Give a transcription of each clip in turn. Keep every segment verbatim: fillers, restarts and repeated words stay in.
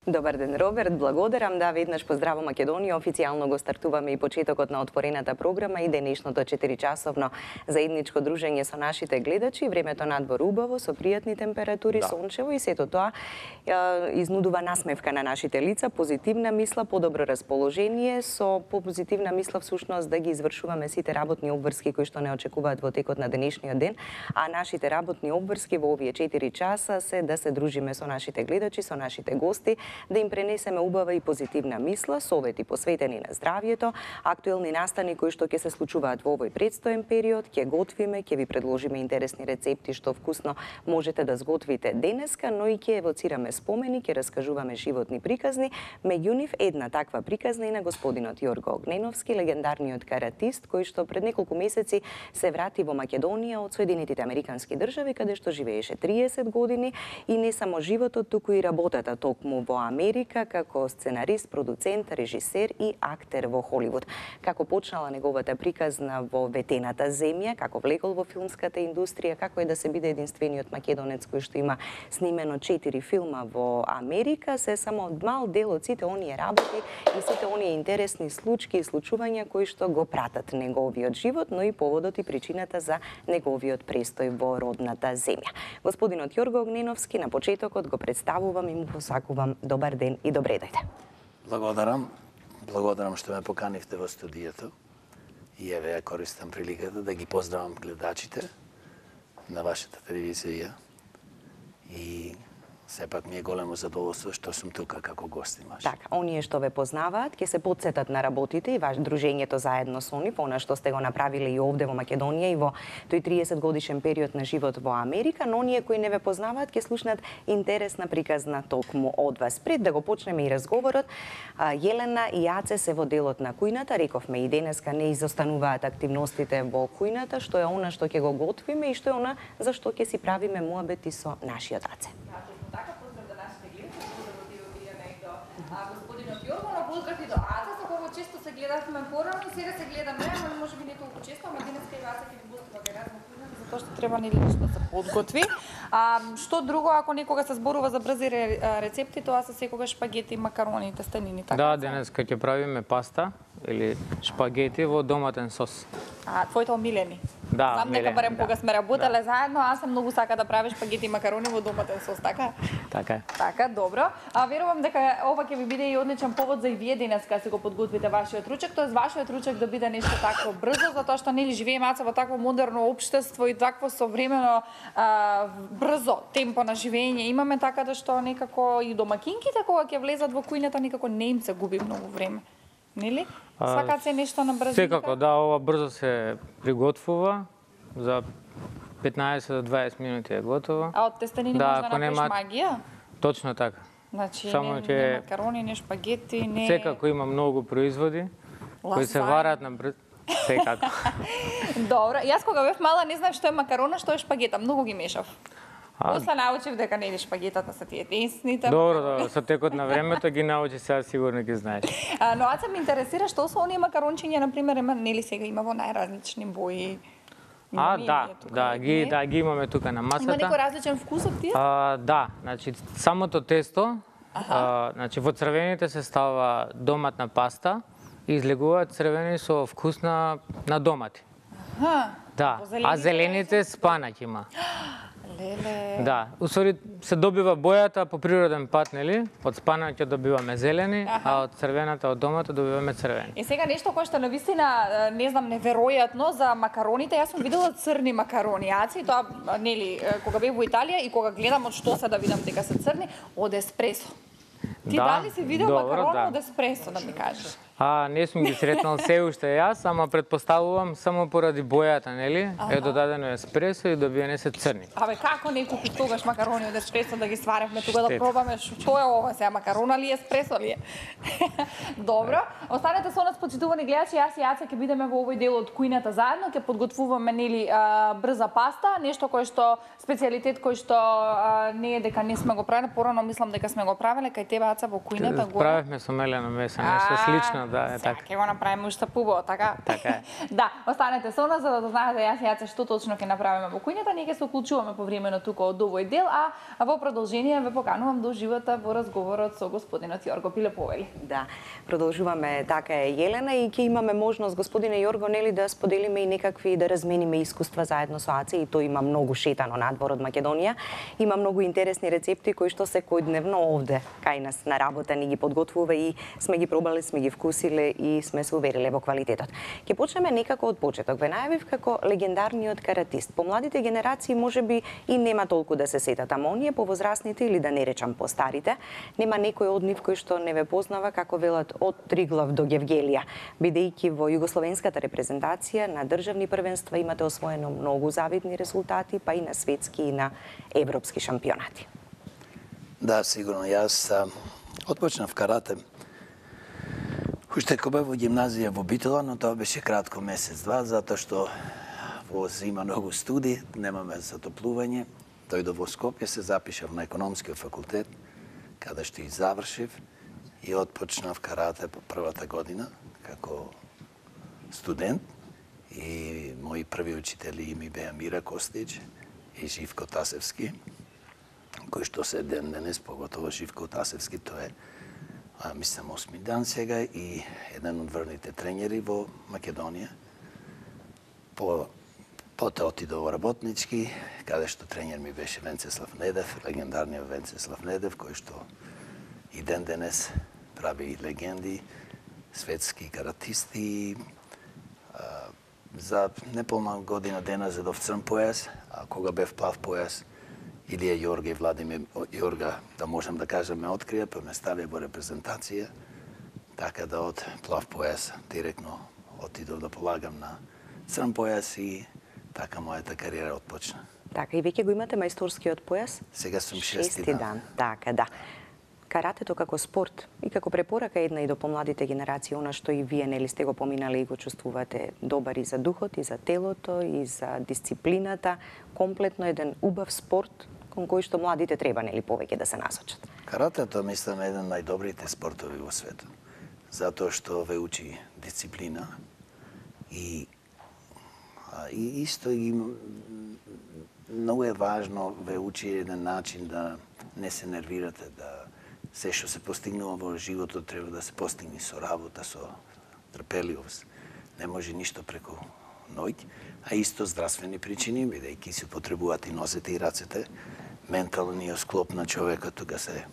Добар ден, Роберт, благодарам. Да, веднаш поздраво Македонија. Официјално го стартуваме и почетокот на отворената програма и денешното четиричасовно заедничко дружење со нашите гледачи. Времето надвор убаво, со пријатни температури, да. Сончево и сето тоа е, изнудува насмевка на нашите лица, позитивна мисла, подобро расположение, со позитивна мисла всушност да ги извршуваме сите работни обврски кои што не очекуваат во текот на денешниот ден, а нашите работни обврски во овие четири часа се да се дружиме со нашите гледачи, со нашите гости, да им пренесеме убава и позитивна мисла, совети посветени на здравјето, актуелни настани кои што ќе се случуваат во овој предстоен период, ќе готвиме, ќе ви предложиме интересни рецепти што вкусно можете да сготвите денеска, но и ќе евоцираме спомени, ќе раскажуваме животни приказни. Меѓу нив една таква приказна и на господинот Јорго Огненовски, легендарниот каратист кој што пред неколку месеци се врати во Македонија од Соединетите Американски држави, каде што живееше триесет години и не само животот, туку и работата токму во Америка како сценарист, продуцент, режисер и актер во Холивуд. Како почнала неговата приказна во ветената земја, како влегол во филмската индустрија, како е да се биде единствениот македонец кој што има снимено четири филма во Америка, се само мал дел од сите оние работи и сите оние интересни случаи и случувања кои што го пратат неговиот живот, но и поводот и причината за неговиот престој во родната земја. Господинот Јорго Огненовски на почетокот го представувам и му посакувам добар ден и добре дојде. Благодарам. Благодарам што ме поканивте во студијето. И еве ја користам приликата да ги поздравам гледачите на вашата телевизија. И сепак ми е големо задоволство што сум тука како гостин ваш. Така, оние што ве познаваат ќе се потсетат на работите и ваш дружењето заедно со нив, она што сте го направиле и овде во Македонија и во тој триесет годишен период на живот во Америка, но оние кои не ве познаваат ќе слушнат интересна приказна токму од вас. Пред да го почнеме и разговорот, Јелена и Јаце се во делот на кујната, рековме и денеска не изостануваат активностите во кујната, што е она што ќе го готвиме и што е она за што ќе си правиме муабети со нашиот Аце. Господинот Јорго, на поздрав и до Аца, со кого често се гледавме порано и сега се гледаме, ама може би не толку често, ама денеска и Аца ќе ви гостува кај нас во кујната, затоа што треба нели нешто да се подготви. А што друго ако некога се зборува за брзи рецепти, тоа се секогаш шпагети, макарони, тестенини, така? Да, денеска ќе правиме паста или шпагети во доматен сос. А, твоите омилени? Да, знам дека милени, барем да. кога сме работеле Да. заедно, аз сам многу сака да правиш шпагети и макарони во доматен сос, така? Така е. Така, добро. А верувам дека ова ќе ви биде и одличен повод за и вие денеска се го подготвите вашиот ручек, тоест вашиот ручек да биде нешто такво брзо, затоа што нели живееме Аца во такво модерно општество и такво современо а, брзо темпо на живење имаме, така да што некако и домакинките кога ќе влезат во кујната некако не им се губи многу време. Нели? Сакаат се нешто на брзо. Секако, да, ова брзо се приготвува, за петнаесет до дваесет минути е готово. А од тестенини да, може да ако направиш нема... магија? Точно така. Значи, Само не, ќе... не макарони, не шпагети, не... Секако има многу производи кои се Лазања. варат на брз... Секако. Добро, јас кога бев мала не знаев што е макарона, што е шпагета, многу ги мешав. А... После научив дека нели шпагетата се тие тесните. Добро, добро, со текот на времето ги научи, сега сигурно ги знаеш. А, но Аца ме интересира што се оние макарончиња, на пример, ема нели сега има во најразлични бои. А, Има да, ние тука, да, ги, не? да, ги имаме тука на масата. Има некој различен вкус од тие? А, да, значи самото тесто, а, значи во црвените се става доматна паста и излегуваат црвени со вкус на, на домати. Аха. Да, а зелените спанаќ има. Леле. Да, усвари се добива бојата по природен пат, нели? Од спанаќот добиваме зелени, Аха. а од црвената од домата добиваме црвени. И сега нешто кое што навистина, не знам, неверојатно за макароните, јас сум видела црни макарони, Аци, тоа нели кога бев во Италија и кога гледам од што се да видам дека се црни, од еспресо. Ти Да, дали си видел добро, макарони да. од еспресо, да ми кажеш? А, не сум ги сретнал се уште јас, ама предпоставувам само поради бојата, нели? Е додадено еспресо и добиени се црни. Абе, како не купи тогаш макарони од еспресо да ги сваревме тука да Штет. пробаме што е ова сега, макарона ли е, еспресо ли е? Добро, останете со нас, почитувани гледачи, јас и Јаце ќе бидеме во овој дел од кујната заедно, ќе подготвуваме нели а, брза паста, нешто кое што специјалитет кој што а, не е дека не сме го правеле, порано мислам дека сме го правеле кај тебе Аца во кујната горе. Правевме со мелено месо, нешто А, слично Определено, да, е така. Ќе го направиме уште пубаво, така? Така е. Да, останете со нас за да дознаете јас и Јаце што точно ќе направиме во кујната. Ние ќе се уклучуваме повремено тука од овој дел, а во продолжение ве поканувам да уживате во разговорот со господинот Јорго Пилеповели. Да, продолжуваме, така е, Јелена, и ќе имаме можност, господине Јорго, нели, да споделиме и некакви, да размениме искуства заедно со Аце, и тој има многу шетано надвор од Македонија. Има многу интересни рецепти кои што секојдневно овде кај нас на работа ни ги подготвува и сме ги пробале, сме ги вкусиле и сме се увериле во квалитетот. Ќе почнеме некако од почеток. Ве најавив како легендарниот каратист. По младите генерации можеби и нема толку да се сетат, ама оние повозрасните или да не речам постарите, нема некој од нив кој што не ве познава, како велат, од Триглав до Гевгелија. Бидејќи во југословенската репрезентација на државни првенства имате освоено многу завидни резултати, па и на светски и на европски шампионати. Да, сигурно. Јас отпочнав карате уште кога бев во гимназија во Битола, но тоа беше кратко, месец-два, затоа што во зима многу студи, немаме затоплување. Дојдов во Скопје, се запишав на економскиот факултет, каде што и завршив, и отпочнав карате по првата година како студент. И мои први учители ми беа Мира Костич и Живко Тасевски, кој што се ден денес, поготово Живко Тасевски, тоа е, а, мислам, осми дан сега и еден од врвните тренери во Македонија. По Потоа отидов во Работнички, каде што тренер ми беше Венцеслав Недев, легендарниот Венцеслав Недев, кој што и ден денес прави легенди, светски каратисти. За неполна година дена зедов црн појас, а кога бев плав појас, Илија Јорга и Владимир Јорга, да можем да кажем, ме открија, па ме ставија во репрезентација, така да од плав појас директно отидов да полагам на црн појас и така мојата кариера отпочна. Така, и веќе го имате мајсторскиот појас? Сега сум шести, шести дан. дан. Така, да. Каратето како спорт и како препорака една и до помладите генерации, она што и вие нели сте го поминали и го чувствувате добар и за духот, и за телото, и за дисциплината, комплетно еден убав спорт кон кој што младите треба нели повеќе да се насочат. Каратето мислам е еден од најдобрите спортови во светот, затоа што ве учи дисциплина и и исто и многу е важно ве учи еден начин да не се нервирате, да се што се постигнува во животот треба да се постигне со работа, со трпеливост. Не може ништо преку ноќ, а исто здравствени причини, бидејќи се потребуваат и носете и рацете, менталниот склоп на човекот тука се,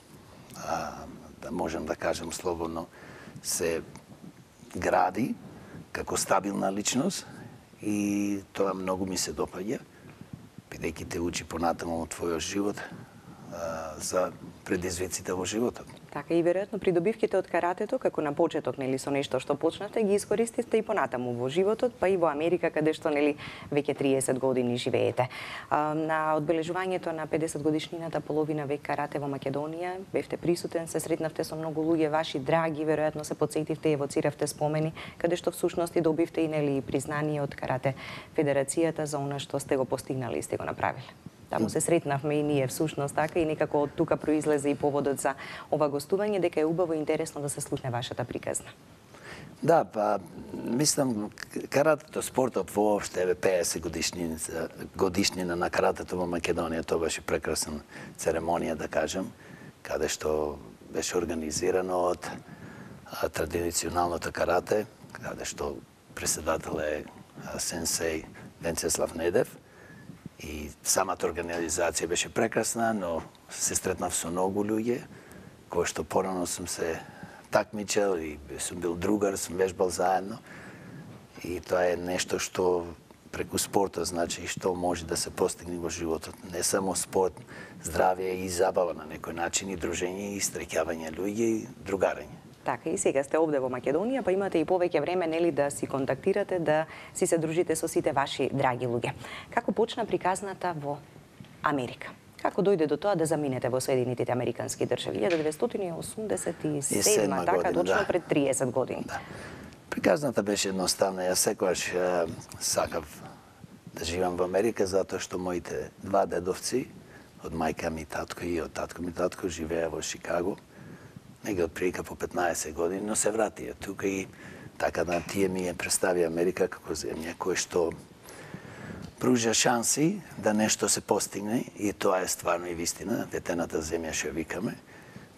а, да можем да кажем слободно, се гради како стабилна личност и тоа многу ми се допаѓа, бидејќи те учи понатаму од твојот живот а, за предизвиците во животот. Така, и веројатно придобивките од каратето, како на почеток, нели, со нешто што почнате, ги искористите и понатаму во животот, па и во Америка, каде што, нели, веќе триесет години живеете. А, на одбележувањето на педесет годишнината половина век карате во Македонија, бевте присутен, се сретнавте со многу луѓе, ваши драги, веројатно се потсетивте и евоциравте спомени, каде што всушност и добивте и, нели, признание од Карате Федерацијата за она што сте го постигнали и сте го направиле. Таму се сретнавме и ние всушност така и некако од тука произлезе и поводот за ова гостување, дека е убаво и интересно да се слушне вашата приказна. Да, па мислам каратето спортот воопште е педесет годишнина, годишнина на каратето во Македонија, тоа беше прекрасна церемонија да кажем, каде што беше организирано од а, традиционалното карате, каде што преседател е а, сенсеј Венцеслав Недев. И самата организација беше прекрасна, но се стретнав со многу луѓе, кои што порано сум се такмичел и сум бил другар, сум вежбал заедно. И тоа е нешто што преку спортот, значи, што може да се постигне во животот. Не само спорт, здравје и забава на некој начин, и дружење, и среќавање луѓе, и другарење. Така, и сега сте овде во Македонија, па имате и повеќе време, нели, да си контактирате, да си се дружите со сите ваши драги луѓе. Како почна приказната во Америка? Како дојде до тоа да заминете во Соединетите Американски држави? еден деветстотини осумдесет и седма, така, точно да. Пред триесет години. Да. Приказната беше едноставна. Јас секогаш сакав да живам во Америка, затоа што моите два дедовци, од мајка ми татко и од татко ми татко, живеа во Шикаго. нега од прилика по петнаесет години, но се вратија тука и така да тие ми ја представи Америка како земја која што пружа шанси да нешто се постигне и тоа е стварно и вистина, ветената земја што викаме.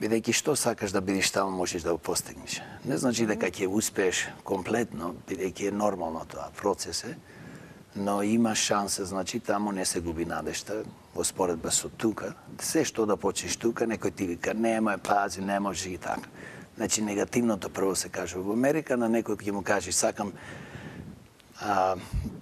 Бидејќи што сакаш да бидеш таму, можеш да го постигнеш. Не значи дека ќе успееш комплетно, бидејќи е нормално тоа, процес е, но има шанса, значи таму не се губи надежта, во споредба со тука. Се што да почнеш тука, некој ти вика, немој, пази, не може и така. Значи негативното прво се кажува. Во Америка на некој ќе му кажеш, сакам а,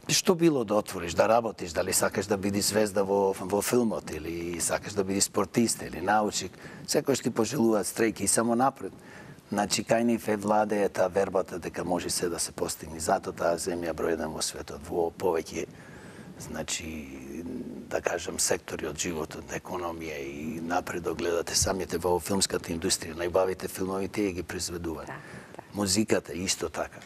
што било да отвориш, да работиш, дали сакаш да бидеш звезда во, во филмот, или сакаш да бидеш спортист, или научник, секој што ти пожелуваат стрејки и само напред. Значи, кај нив е владее таа вербата дека може се да се постигне. Зато таа земја број еден во светот, во повеќе, значи, да кажам, сектори од животот, економија и напред гледате самите во филмската индустрија, најбавите филмови тие ги произведуваат. Да, да. Музиката исто така.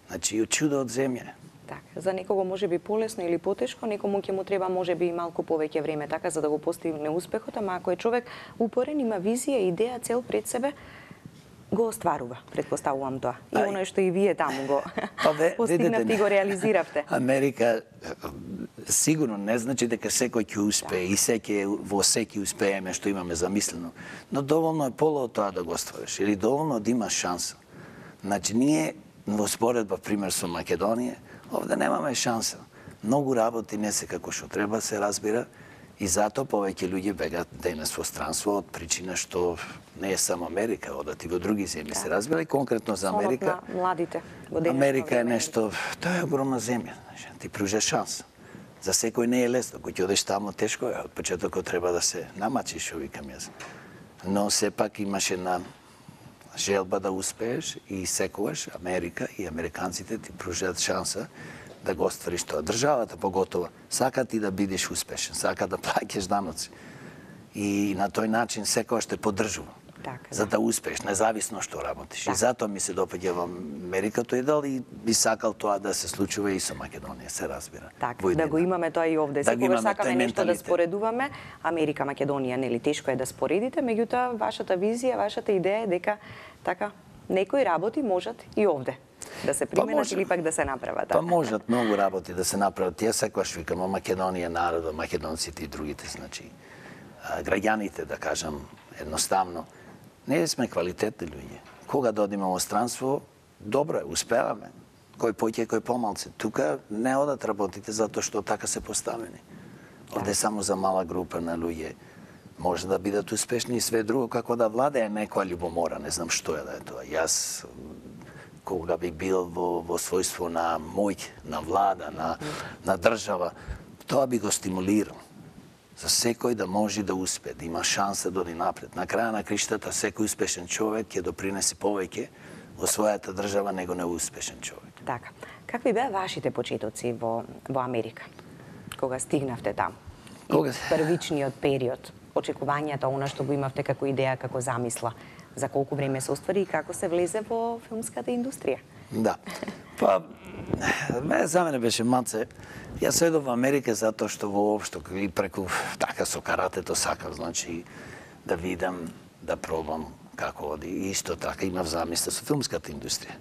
Значи, чудо од земја. Така, за некого може би полесно или потешко, некому ќе му треба може би и малку повеќе време така за да го постигне успехот, ама ако е човек упорен, има визија, идеја, цел пред себе, го остварува, предпоставувам тоа. И оно што и вие таму го постигнавте и го реализиравте. Америка сигурно не значи дека секој ќе успее и секој во секи успееме што имаме замислено, но доволно е поло од тоа да го оствариш или доволно да имаш шанса. Значи ние во споредба пример со Македонија, овде немаме шанса. Многу работи не се како што треба се разбира. И затоа повеќе луѓе бегаат денес во странство од причина што не е само Америка, одат и во други земји. Се разбира и конкретно за Америка. На младите. Америка е нешто, тоа е огромна земја, ти пружа шанс. За секој не е лесно, кој ќе одеш таму тешко е, од почетокот треба да се намачиш, што викам јас. Но сепак имаш една желба да успееш и секогаш Америка и американците ти пружаат шанса да го оствариш тоа. Државата поготово сака ти да бидеш успешен, сака да плаќаш даноци. И на тој начин секогаш те поддржува. Така, за да успееш, независно што работиш. Так. И затоа ми се допаѓа во Америка тој дел и би сакал тоа да се случува и со Македонија, се разбира. Така, да го имаме тоа и овде. Да Секогаш сакаме нешто да споредуваме. Америка, Македонија, нели тешко е да споредите, меѓутоа вашата визија, вашата идеја е дека така некои работи можат и овде да се применат па или пак да се направат. Па можат многу работи да се направат. Тие секогаш викам, Македонија народот, македонците и другите, значи граѓаните, да кажам, едноставно не сме квалитетни луѓе. Кога додиме во странство, добро е, успеваме. Кој поќе, кој помалце. Тука не одат работите затоа што така се поставени. Овде само за мала група на луѓе може да бидат успешни и све друго, како да владее некоја љубомора, не знам што е да е тоа. Јас кога би бил во, во својство на мој, на влада, на, на држава, тоа би го стимулирал. За секој да може да успее, да има шанса да оди напред. На краја на криштата секој успешен човек ќе допринеси повеќе во својата држава него неуспешен човек. Така. Какви беа вашите почетоци во во Америка? Кога стигнавте таму? Кога првичниот период, очекувањата, она што го имавте како идеја, како замисла, за колку време се оствари и како се влезе во филмската индустрија? Да. Па ме за мене беше маце. Јас одов во Америка затоа што воопшто и преку така со каратето сакав, значи да видам, да пробам како оди. И исто така имав замисла со филмската индустрија.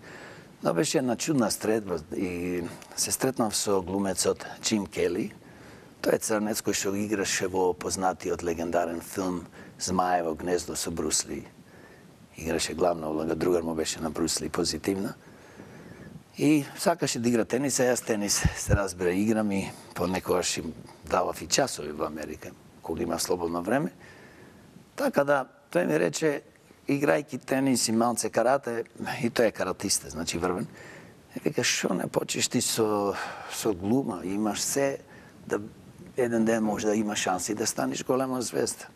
Но беше една чудна средба и се стретнав со глумецот Джим Кели. Тој е црнец кој што играше во познатиот легендарен филм Змаево гнездо со Брус Ли. Играше главна улога, другар му беше на Брус Ли позитивна. И сакаше да игра тенис, а јас тенис се разбира играм и понекогаш им давав и часови во Америка, кога има слободно време. Така да, тој ми рече, играјки тенис и малце карате, и тој е каратиста, значи врвен. И вика, шо не почнеш ти со, со глума, имаш се, да еден ден може да имаш шанси да станеш голема звезда.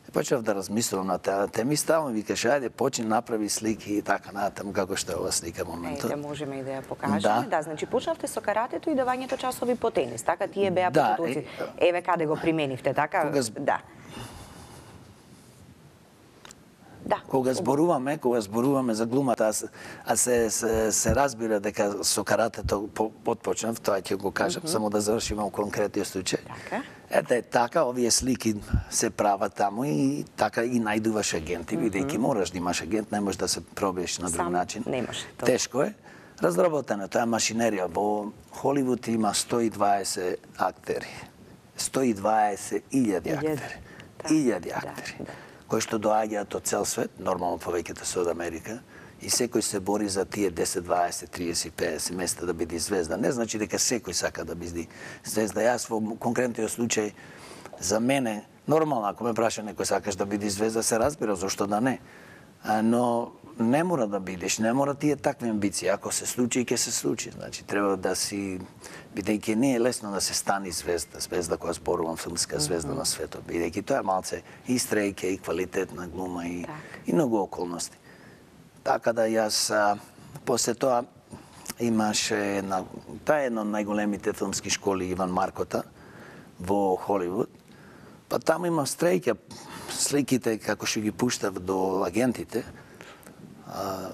И почнав да размислувам на таа тема и ставам викаш, ајде, почни направи слики и така натаму како што е ова слика моментот. Ејде, можеме и да ја покажеме. Да, да, значи почнавте со каратето и давањето часови по тенис, така тие беа да, почетоци. Еве каде го применивте, така? Кога... Да. Да. Кога зборуваме, кога зборуваме за глумата, а, а се, се, се разбира дека со каратето потпочнав, тоа ќе го кажам, mm -hmm. само да завршиме во конкретниот случај. Така. Ете, е така, овие слики се прават таму и така и најдуваш агенти, mm -hmm. бидејќи мораш да имаш агент, не можеш да се пробиеш на друг Сам начин. не може. Тешко е. Разработено, тоа е машинерија. Во Холивуд има сто и дваесет актери. сто и дваесет илјади актери. Илјади актери. Да, да. Кои што доаѓаат од цел свет, нормално повеќето се од Америка, и секој се бори за тие десет, дваесет, триесет, педесет места да биде звезда. Не значи дека секој сака да биде звезда. Јас во конкретниот случај, за мене, нормално, ако ме праша некој сакаш да биде звезда, се разбира, зашто да не. Но не мора да бидеш, не мора тие такви амбиции. Ако се случи, ќе се случи. Значи, треба да си, бидејќи не е лесно да се стани звезда, звезда која зборувам, филмска звезда mm -hmm. на светот, бидејќи тоа е малце и стрејке, и квалитетна глума, и, и многу околности. Така да јас, а, после тоа, имаше една, тоа е една од најголемите филмски школи Иван Маркота во Холивуд. Па таму има стрејке, сликите како што ги пуштав до агентите. А,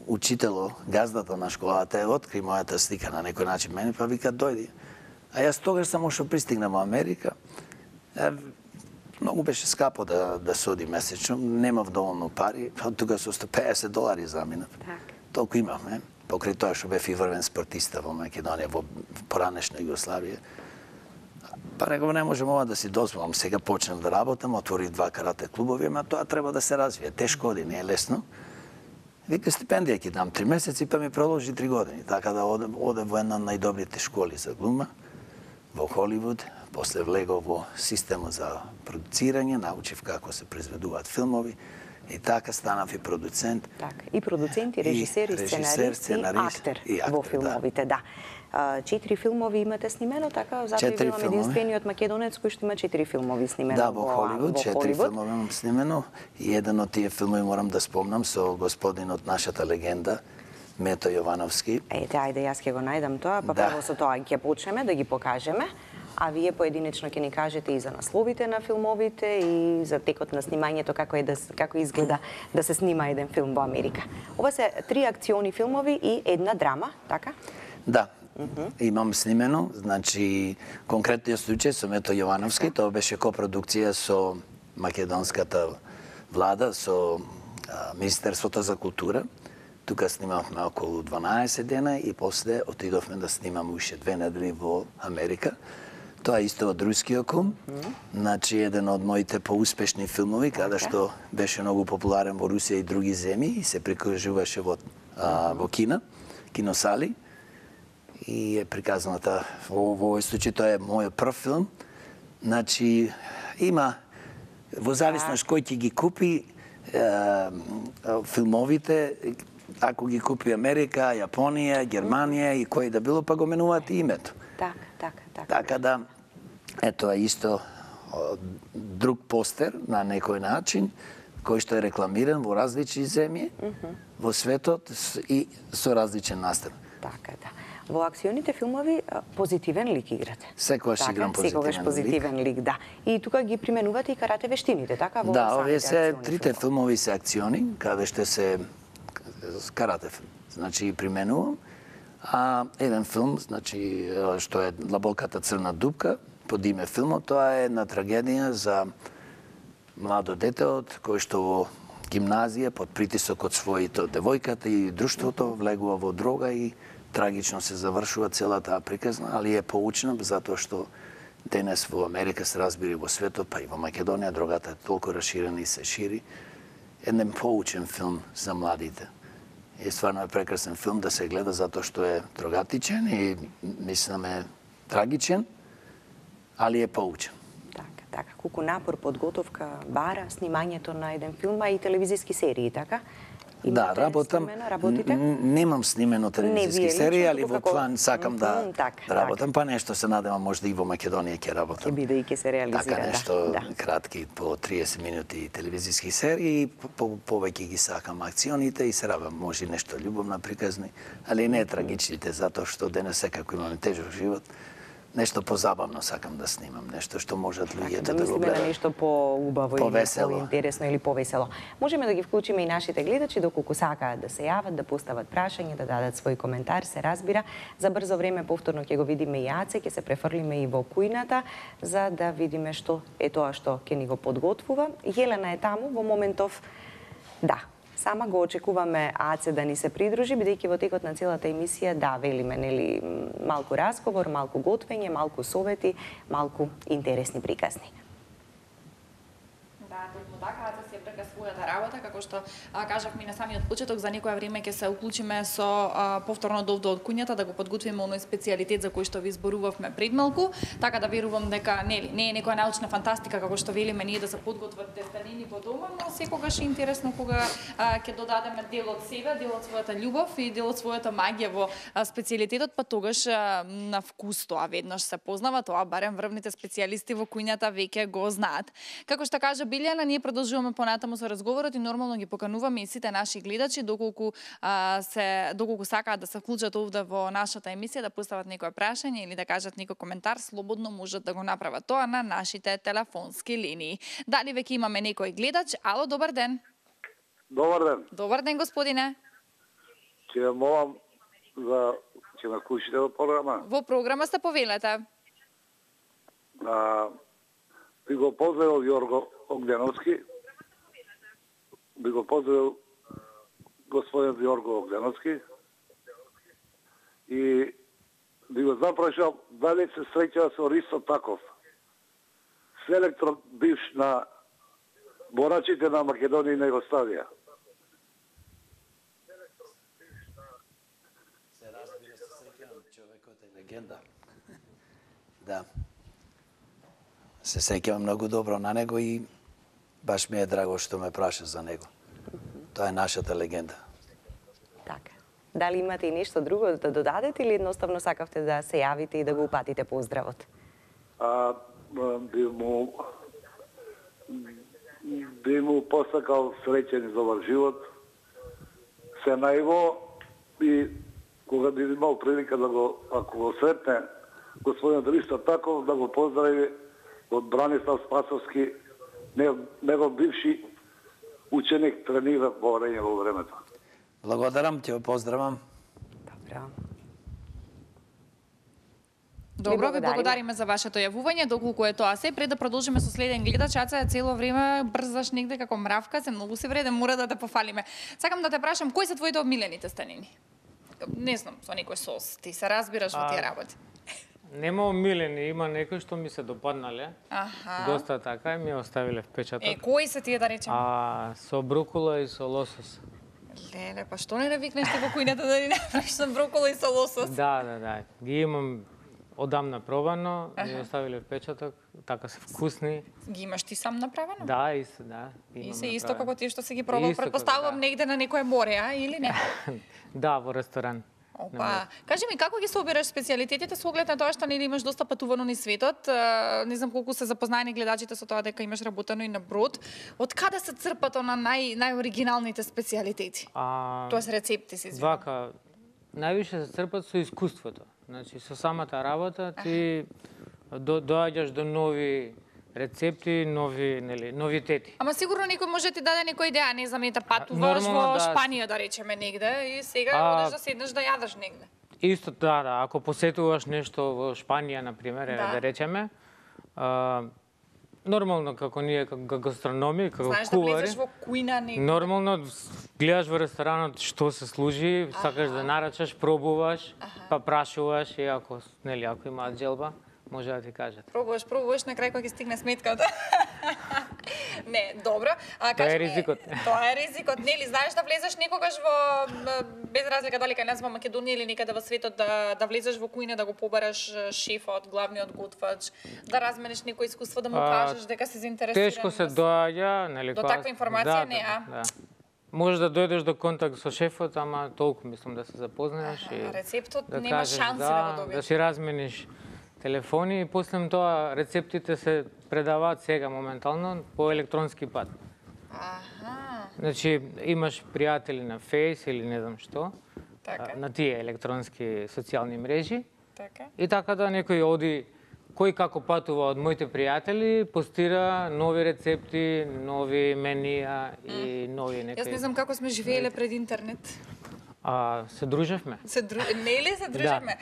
учитело, газдата на школата е откри мојата слика на некој начин мене, па вика дојди. А јас тогаш само што пристигнав во Америка, е, многу беше скапо да, да се оди месечно, немав доволно пари, од тука со сто педесет долари заминав. Так. Толку имавме, покрај тоа што бев и врвен спортиста во Македонија, во поранешна Југославија. Па реков, не можем ова да си дозволам, сега почнав да работам, отворив два карате клубови, ама тоа треба да се развие. Тешко оди, не е лесно. Вика, стипендија ќе дам три месеци, па ми продолжи три години. Така да оде, оде во една од најдобрите школи за глума, во Холивуд. После влегов во системот за продуцирање, научив како се произведуваат филмови, и така станав и продуцент. Така, и продуцент, и режисер, и, и сценарист, сценарист, и актер, и актер во филмовите, да. да. Четири филмови имате снимено, така? Затоа и билам единствениот македонец кој што има четири филмови снимено да, во, во Холивуд. Во четири Холивуд. филмови имам снимено. И еден од тие филмови морам да спомнам со господинот нашата легенда, Мето Јовановски. Ете, ајде, јас ќе го најдам тоа, па Да. прво со тоа ќе почнеме да ги покажеме, а вие поединечно ќе ни кажете и за насловите на филмовите и за текот на снимањето, како е да како изгледа да се снима еден филм во Америка. Ова се три акциони филмови и една драма, така? Да. Имам снимено, значи конкретниот случај со Мето Јовановски, тоа беше копродукција со македонската влада, со а, Министерството за култура. Тука снимавме околу дванаесет дена и после отидовме да снимаме уште две недели во Америка. Тоа е исто од рускиот кум, значи еден од моите поуспешни филмови, каде што беше многу популарен во Русија и други земји и се прикажуваше во, а, во кина, киносали. И е приказната во овој случај, тоа е мојот прв филм. Значи, има, во зависност кој ќе ги купи е, филмовите, ако ги купи Америка, Јапонија, Германија и кој да било, па го менуваат и името. Така, така, така. Така да, ето е исто друг постер на некој начин, кој што е рекламиран во различни земји, во светот и со различен настав. Така, да. Во акционите филмови позитивен лик играте. Секогаш така, играм позитивен секогаш позитивен лик. лик, да. И тука ги применувате и карате вештините, така? Во Да, овие се акциони трите филмови. филмови се акциони, каде што се карате филм. Значи применувам. А еден филм, значи што е Длабоката црна дупка, под име филмот, тоа е една трагедија за младо дете од кој што во гимназија под притисок од своите девојката и друштвото влегува во дрога и трагично се завршува целата таа приказна, али е поучна затоа што денес во Америка се разбира во светот, па и во Македонија дрогата е толку расширена и се шири. Еден поучен филм за младите. И стварно е прекрасен филм да се гледа затоа што е трогатичен и мислам е трагичен, али е поучен. Така, така. Колку напор, подготовка бара снимањето на еден филм, а и телевизиски серии, така? Да, работам. Снимено, работите? Немам снимено телевизиски вие серии, лично, али туку во како- план сакам да Мгм, така, да работам, па нешто се надевам можда и во Македонија ќе работам. Ќе биде и ќе се реализира, Така да, нешто да. кратки по триесет минути телевизиски серии и по- по- повеќе ги сакам акционите и се работам, може и нешто љубовна приказни, али не трагичните, затоа што денес секако имаме тежок живот. нешто позабавно сакам да снимам, нешто што можат луѓето да, да го мислиме на гледаат. нешто поубаво или Повесело. поинтересно или повесело. Можеме да ги вклучиме и нашите гледачи доколку сакаат да се јават, да постават прашање, да дадат свој коментар, се разбира. За брзо време повторно ќе го видиме и Аце, ќе се префрлиме и во кујната за да видиме што е тоа што ќе ни го подготвува. Јелена е таму во моментов. Да, сама го очекуваме Аце да ни се придружи, бидејќи во текот на целата емисија, да, велиме, нели, малку разговор, малку готвење, малку совети, малку интересни приказни. Да, токму така, Аце се прека својата работа, како што а, кажавме и на самиот почеток, за некоја време ќе се уклучиме со а, повторно довде од куњата да го подготвиме оној специјалитет за кој што ви зборувавме пред малку, така да верувам дека нели не е некоја научна фантастика како што велиме ние да се подготват тестанини по дома, но секогаш е интересно кога а, ќе додадеме дел од себе, дел од својата љубов и дел од својата магија во а, специјалитетот, па тогаш а, на вкус тоа веднаш се познава, тоа барем врвните специјалисти во куњата веќе го знаат. Како што кажа Билјана, ние продолжуваме понатаму со разговорот и нормално ги покануваме и сите наши гледачи доколку а, се доколку сакаат да се вклучат овде во нашата емисија, да постават некое прашање или да кажат некој коментар, слободно можат да го направат тоа на нашите телефонски линии. Дали веќе имаме некој гледач? Ало, добар ден. Добар ден. Добар ден, господине. Ќе ве молам за ќе ме вклучите во програма. Во програма сте, повелете. А, би го поздравил Јорго Огденовски. Би го поздравил господин Јорго Огденовски. И би го запрашал дали се среќава со Ристо Таков, селектор бивш на борачите на Македонија и на Југославија. Се разбира, се сеќавам, човекот е легенда. Да. Се сеќавам многу добро на него и баш ми е драго што ме праша за него. Тоа е нашата легенда. Така. Дали имате и нешто друго да додадете или едноставно сакавте да се јавите и да го упатите поздравот? А, би му би му посакал среќен за овој живот, се најво и кога би имал прилика да го, ако го сретне господин Ристо Таков, да го поздрави од Бранислав Спасовски, негов бивши ученик, тренира во време во времето. Благодарам, ќе го поздравам. Добро. Добро, ви благодариме. благодариме за вашето јавување, доколку е тоа се. Пред да продолжиме со следен гледач, Аца, цело време брзаш негде како мравка, се многу си вреден, мора да те пофалиме. Сакам да те прашам, кои се твоите омилени тестанини? Не знам, со некој сос, ти се разбираш во тие работи. Нема омилени, има некои што ми се допаднале. Аха. Доста така и ми оставиле впечаток. Е, кои се тие да речеме? А со брокола и со лосос. Леле, па што не навикнеш ти во кујната да ни направиш со брокола и со лосос? Да, да, да. Ги имам одамна пробано, ми оставиле впечаток, така се вкусни. Ги имаш ти сам направено? Да, и се, да. И имам се исто направено. како тие што си ги пробал, Исто како, предпоставувам да. негде на некое море, а, или не? Да, во ресторан. Опа, кажи ми како ги собираш специјалитетите со оглед на тоа што нели имаш доста патувано низ светот, а, не знам колку се запознаени гледачите со тоа дека имаш работено и на брод. Од каде се црпат на нај најоригиналните специјалитети? А, Тоа се рецепти се извинувам. вака, највише се црпат со искуството. Значи, со самата работа ти до, доаѓаш до нови рецепти, нови, нели, новитети. Ама сигурно некој може да ти даде некоја идеја, не знам, ета патуваш Нормално, во да. Шпанија да речеме негде и сега А, одеш да седнеш да јадеш негде. Исто, да, да, ако посетуваш нешто во Шпанија, на пример, Да. да, да речеме, а, нормално како ние како гастрономи, како Знаеш да кувари, влезеш во кујна негде. нормално гледаш во ресторанот што се служи, сакаш да нарачаш, пробуваш, па прашуваш и ако, нели, ако имаат желба, може да ти кажат. Пробуваш, пробуваш, на крај кога ќе стигне сметката. Не, добро. А, Тоа е кажи ми, ризикот. Тоа е ризикот. Нели, знаеш да влезеш некогаш во, без разлика дали кај нас во Македонија или некаде во светот, да, да влезеш во кујна, да го побараш шефот, главниот готвач, да размениш некој искуство, да му А, кажеш дека си заинтересиран. Тешко се да си- доаѓа, нели, До кога- таква информација да, не, а? Да, да. Може да дојдеш до контакт со шефот, ама толку мислам да се запознаеш Аха, и рецептот да нема кажеш, шанси да, да, го добиеш. да си размениш телефони и после тоа рецептите се предаваат сега моментално по електронски пат. Аха, Значи имаш пријатели на Фейс или не знам што, така. а, на тие електронски социјални мрежи Така. И така да некој оди, кој како патува од моите пријатели, постира нови рецепти, нови менија и нови некои... Јас не знам како сме живееле пред интернет. А, се дружевме. Се дру... Нели се дружевме?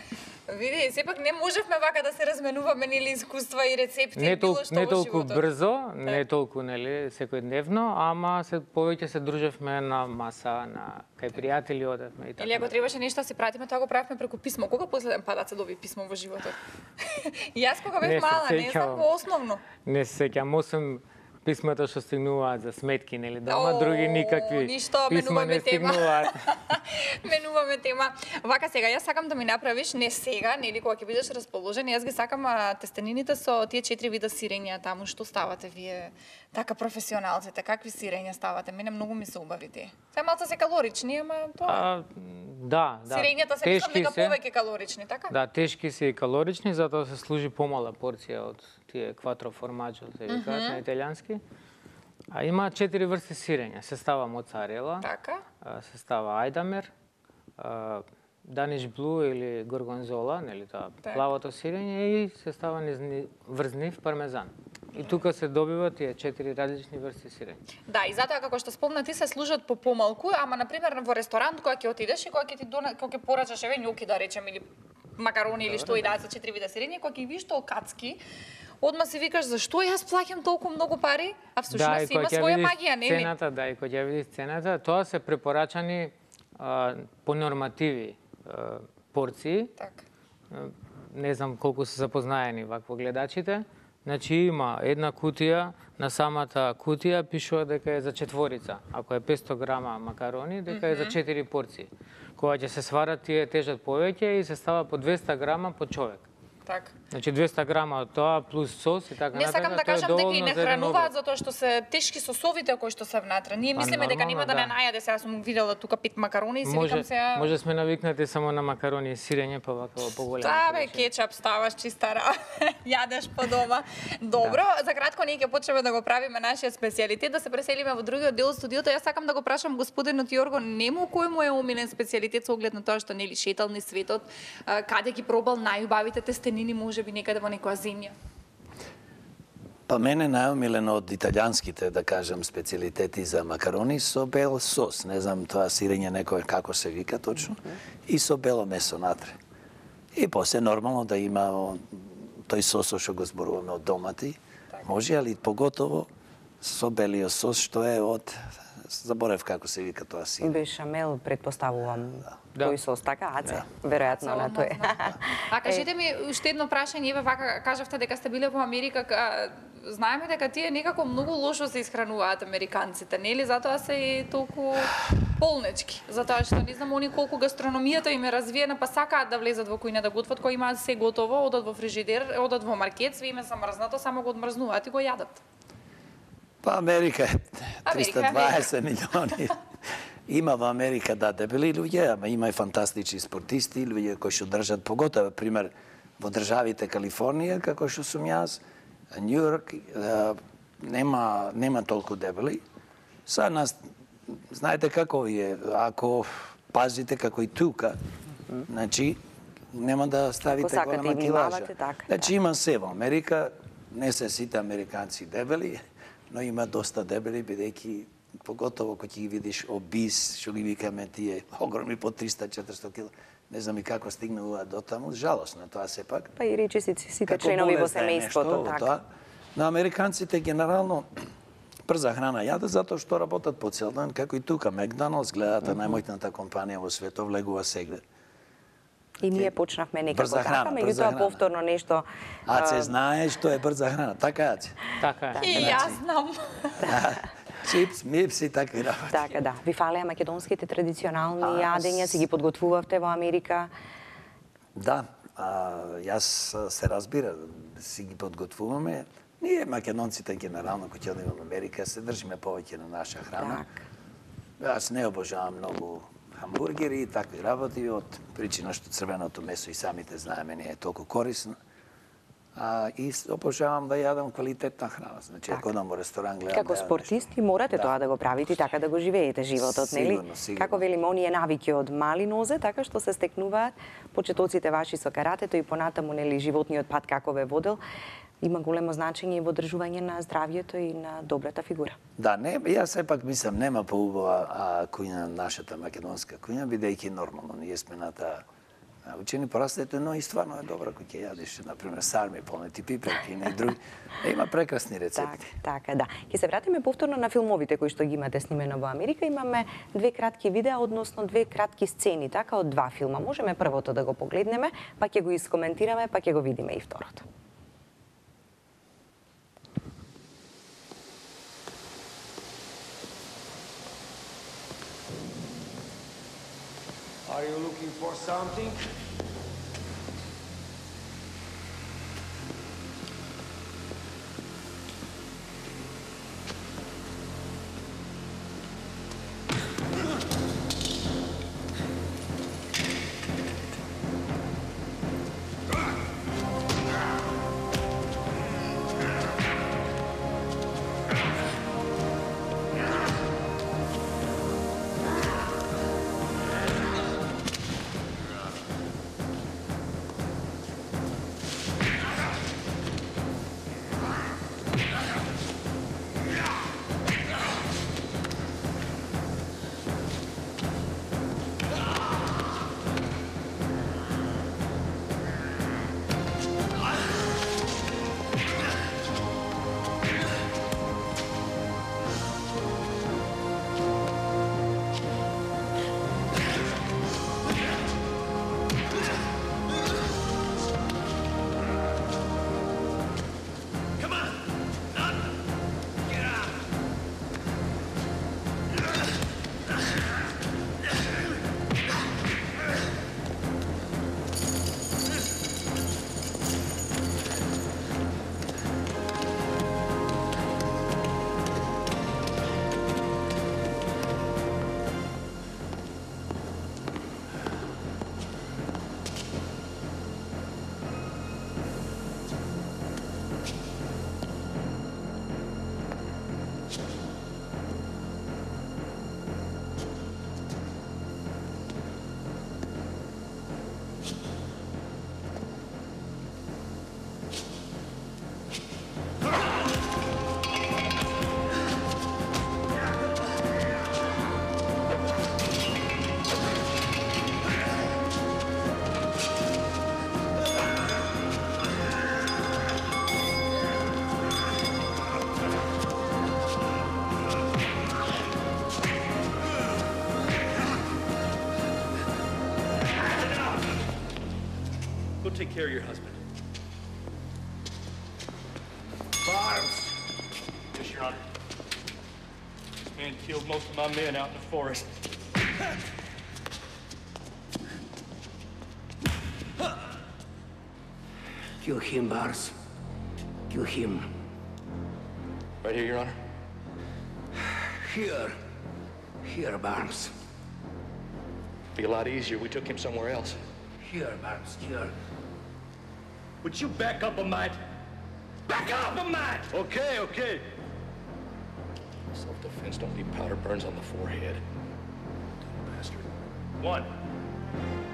Да. Види, сепак не можевме вака да се разменуваме нели искуства и рецепти, не тол... било што не во толку животот. брзо, не толку нели секојдневно, ама се повеќе се дружевме на маса, на кај пријатели одевме и така. Или ако требаше нешто да се пратиме, тоа го правевме преку писмо. Кога последен пат да се доби писмо во животот? Јас кога бев Не се мала, не сеќавам. знам во основно. Не се сеќам, освен писмата што стигнуваат за сметки, нели, дома, други никакви ништо, писма не менуваме тема. стигнуваат. Менуваме тема. Вака сега, јас сакам да ми направиш, не сега, нели, кога ќе бидеш расположен, јас ги сакам а, тестенините со тие четири вида сирења таму, што ставате вие, така професионалците, какви сирења ставате? Мене многу ми се убави тие. Се малце се калорични, ама тоа. А, да, да. Сирењата се мислам дека се. повеќе калорични, така? Да, тешки се и калорични, затоа се служи помала порција од тие кватро формаджо, се викаат на италијански. А има четири врсти сирења. Се става моцарела, Така. а, се става ајдамер, а, даниш блу или горгонзола, нели тоа Така. плавото сирење, и се става низни, врзнив пармезан. И тука се добиваат тие четири различни врсти сирење. Да, и затоа како што спомна ти се служат по помалку, ама на пример во ресторант кога ќе отидеш и кога ќе ти дона, кога ќе порачаш еве њоки да речем или макарони или што и да за четири вида сирење, кога ќе видиш тоа кацки, одма си викаш зашто јас плаќам толку многу пари, а всушност и има кога ќе своја видиш магија, нели? Цената, да, и кога ќе видиш цената, тоа се препорачани а, по нормативи а, порции. Така. Не знам колку се запознаени вакво гледачите. Значи има една кутија, на самата кутија пишува дека е за четворица. Ако е петсто грама макарони, дека е за четири порции. Кога ќе се сварат, тие тежат повеќе и се става по двеста грама по човек. Така. Значи двеста грама од тоа плюс сос и така Не натаму. сакам да тоа е кажам дека и доволно не за еден хрануваат обед. затоа што се тешки сосовите кои што се внатре. Ние Па, мислиме дека нема да не нормално, најаде, сега сум видела тука пет макарони и си Може, викам сега може сме навикнати само на макарони и сирење, па вака во поголеми. Та бе, количини. кетчап ставаш чиста ра, јадеш по дома. Добро, за кратко ние ќе почнеме да го правиме нашиот специјалитет, да се преселиме во другиот дел од студиото. Јас сакам да го прашам господинот Јорго, нему кој му е омилен специјалитет со оглед на тоа што нели шетал низ светот, а, каде ги пробал најубавите тестенини, можеби некаде во некоја земја. Па мене најомилено од италијанските, да кажам, специјалитети за макарони со бел сос. Не знам тоа сирење некој како се вика точно. И со бело месо натре. И после нормално да има о, тој сосо што го зборуваме од домати. Може, али поготово со белиот сос што е од... Заборев како се вика тоа сирење. Бешамел, предпоставувам, Да. кој сос, така, Аце? Веројатно на тој. А кажете ми уште едно прашање, еве вака кажавте дека сте биле во Америка, ка- знаеме дека тие некако многу лошо се исхрануваат американците, нели? Затоа се и толку полнечки. Затоа што не знам они колку гастрономијата им е развиена, па сакаат да влезат во кујна да готват, кои имаат се готово, одат во фрижидер, одат во маркет, све им е замрзнато, само го одмрзнуваат и го јадат. Па Америка е Америка е триста дваесет милиони. Има во Америка, да, дебели луѓе, ама има и фантастични спортисти, луѓе кои што држат, поготово, пример, во државите Калифорнија, како што сум јас, Њујорк, нема, нема толку дебели. Са нас, знаете како е, ако пазите како и тука, значи, нема да ставите Ако сакате голема и килажа. внимавате, така, Значи, има се во Америка, не се сите американци дебели, но има доста дебели, бидејќи поготово кога ќе ги видиш обис, што ги викаме тие огромни по триста четиристо кила, не знам и како стигнуваат до таму, жалосно тоа сепак. Па и речи си сите Како членови во болест да е нешто семејството, во така. тоа. На американците генерално брза храна јадат затоа што работат по цел ден, како и тука Макдоналдс, гледате најмоќната компанија во светот, влегува сегде. И ние почнавме некако Брза така, храна, брза меѓутоа храна. повторно нешто... А се а, знае што е брза храна, така е. Така е. И јас знам. Чипс, мипс и такви работи. Така, да. Ви фалеа македонските традиционални А, јадења, си ги подготвувавте во Америка. Да, а, јас а, се разбира, си ги подготвуваме. Ние македонците генерално кога ќе одиме во Америка се држиме повеќе на наша храна. Так. Јас не обожавам многу хамбургери и такви работи од причина што црвеното месо и самите знаеме не е толку корисно. А, и обожавам да јадам квалитетна храна. Значи, Така. ако одам во ресторан, гледам Како да јадам спортисти нешто. морате Да. тоа да го правите и така да го живеете животот, нели? Сигурно, сигурно. Како велим, оние навики од мали нозе, така што се стекнуваат почетоците ваши со каратето и понатаму, нели, животниот пат како ве водел, има големо значење и во одржување на здравјето и на добрата фигура. Да, не, јас сепак мислам, нема поубава а, кујна, нашата македонска кујна, бидејќи нормално, ние сме на таа учени порастето, но и стварно е добра кој ќе јадиш, например, сарми, полнети пиперки и други. Има прекрасни рецепти. Така, така, да. Ќе се вратиме повторно на филмовите кои што ги имате снимено во Америка. Имаме две кратки видеа, односно две кратки сцени, така, од два филма. Можеме првото да го погледнеме, па ќе го искоментираме, па ќе го видиме и второто. Are you looking for something? Take care of your husband. Barnes! Yes, Your Honor. This man killed most of my men out in the forest. Kill him, Barnes. Kill him. Right here, Your Honor. Here. Here, Barnes. Be a lot easier. We took him somewhere else. Here, Barnes, here. Would you back up a mite? Back up a mite! Okay, okay. Self-defense don't need powder burns on the forehead. Dumb bastard. One,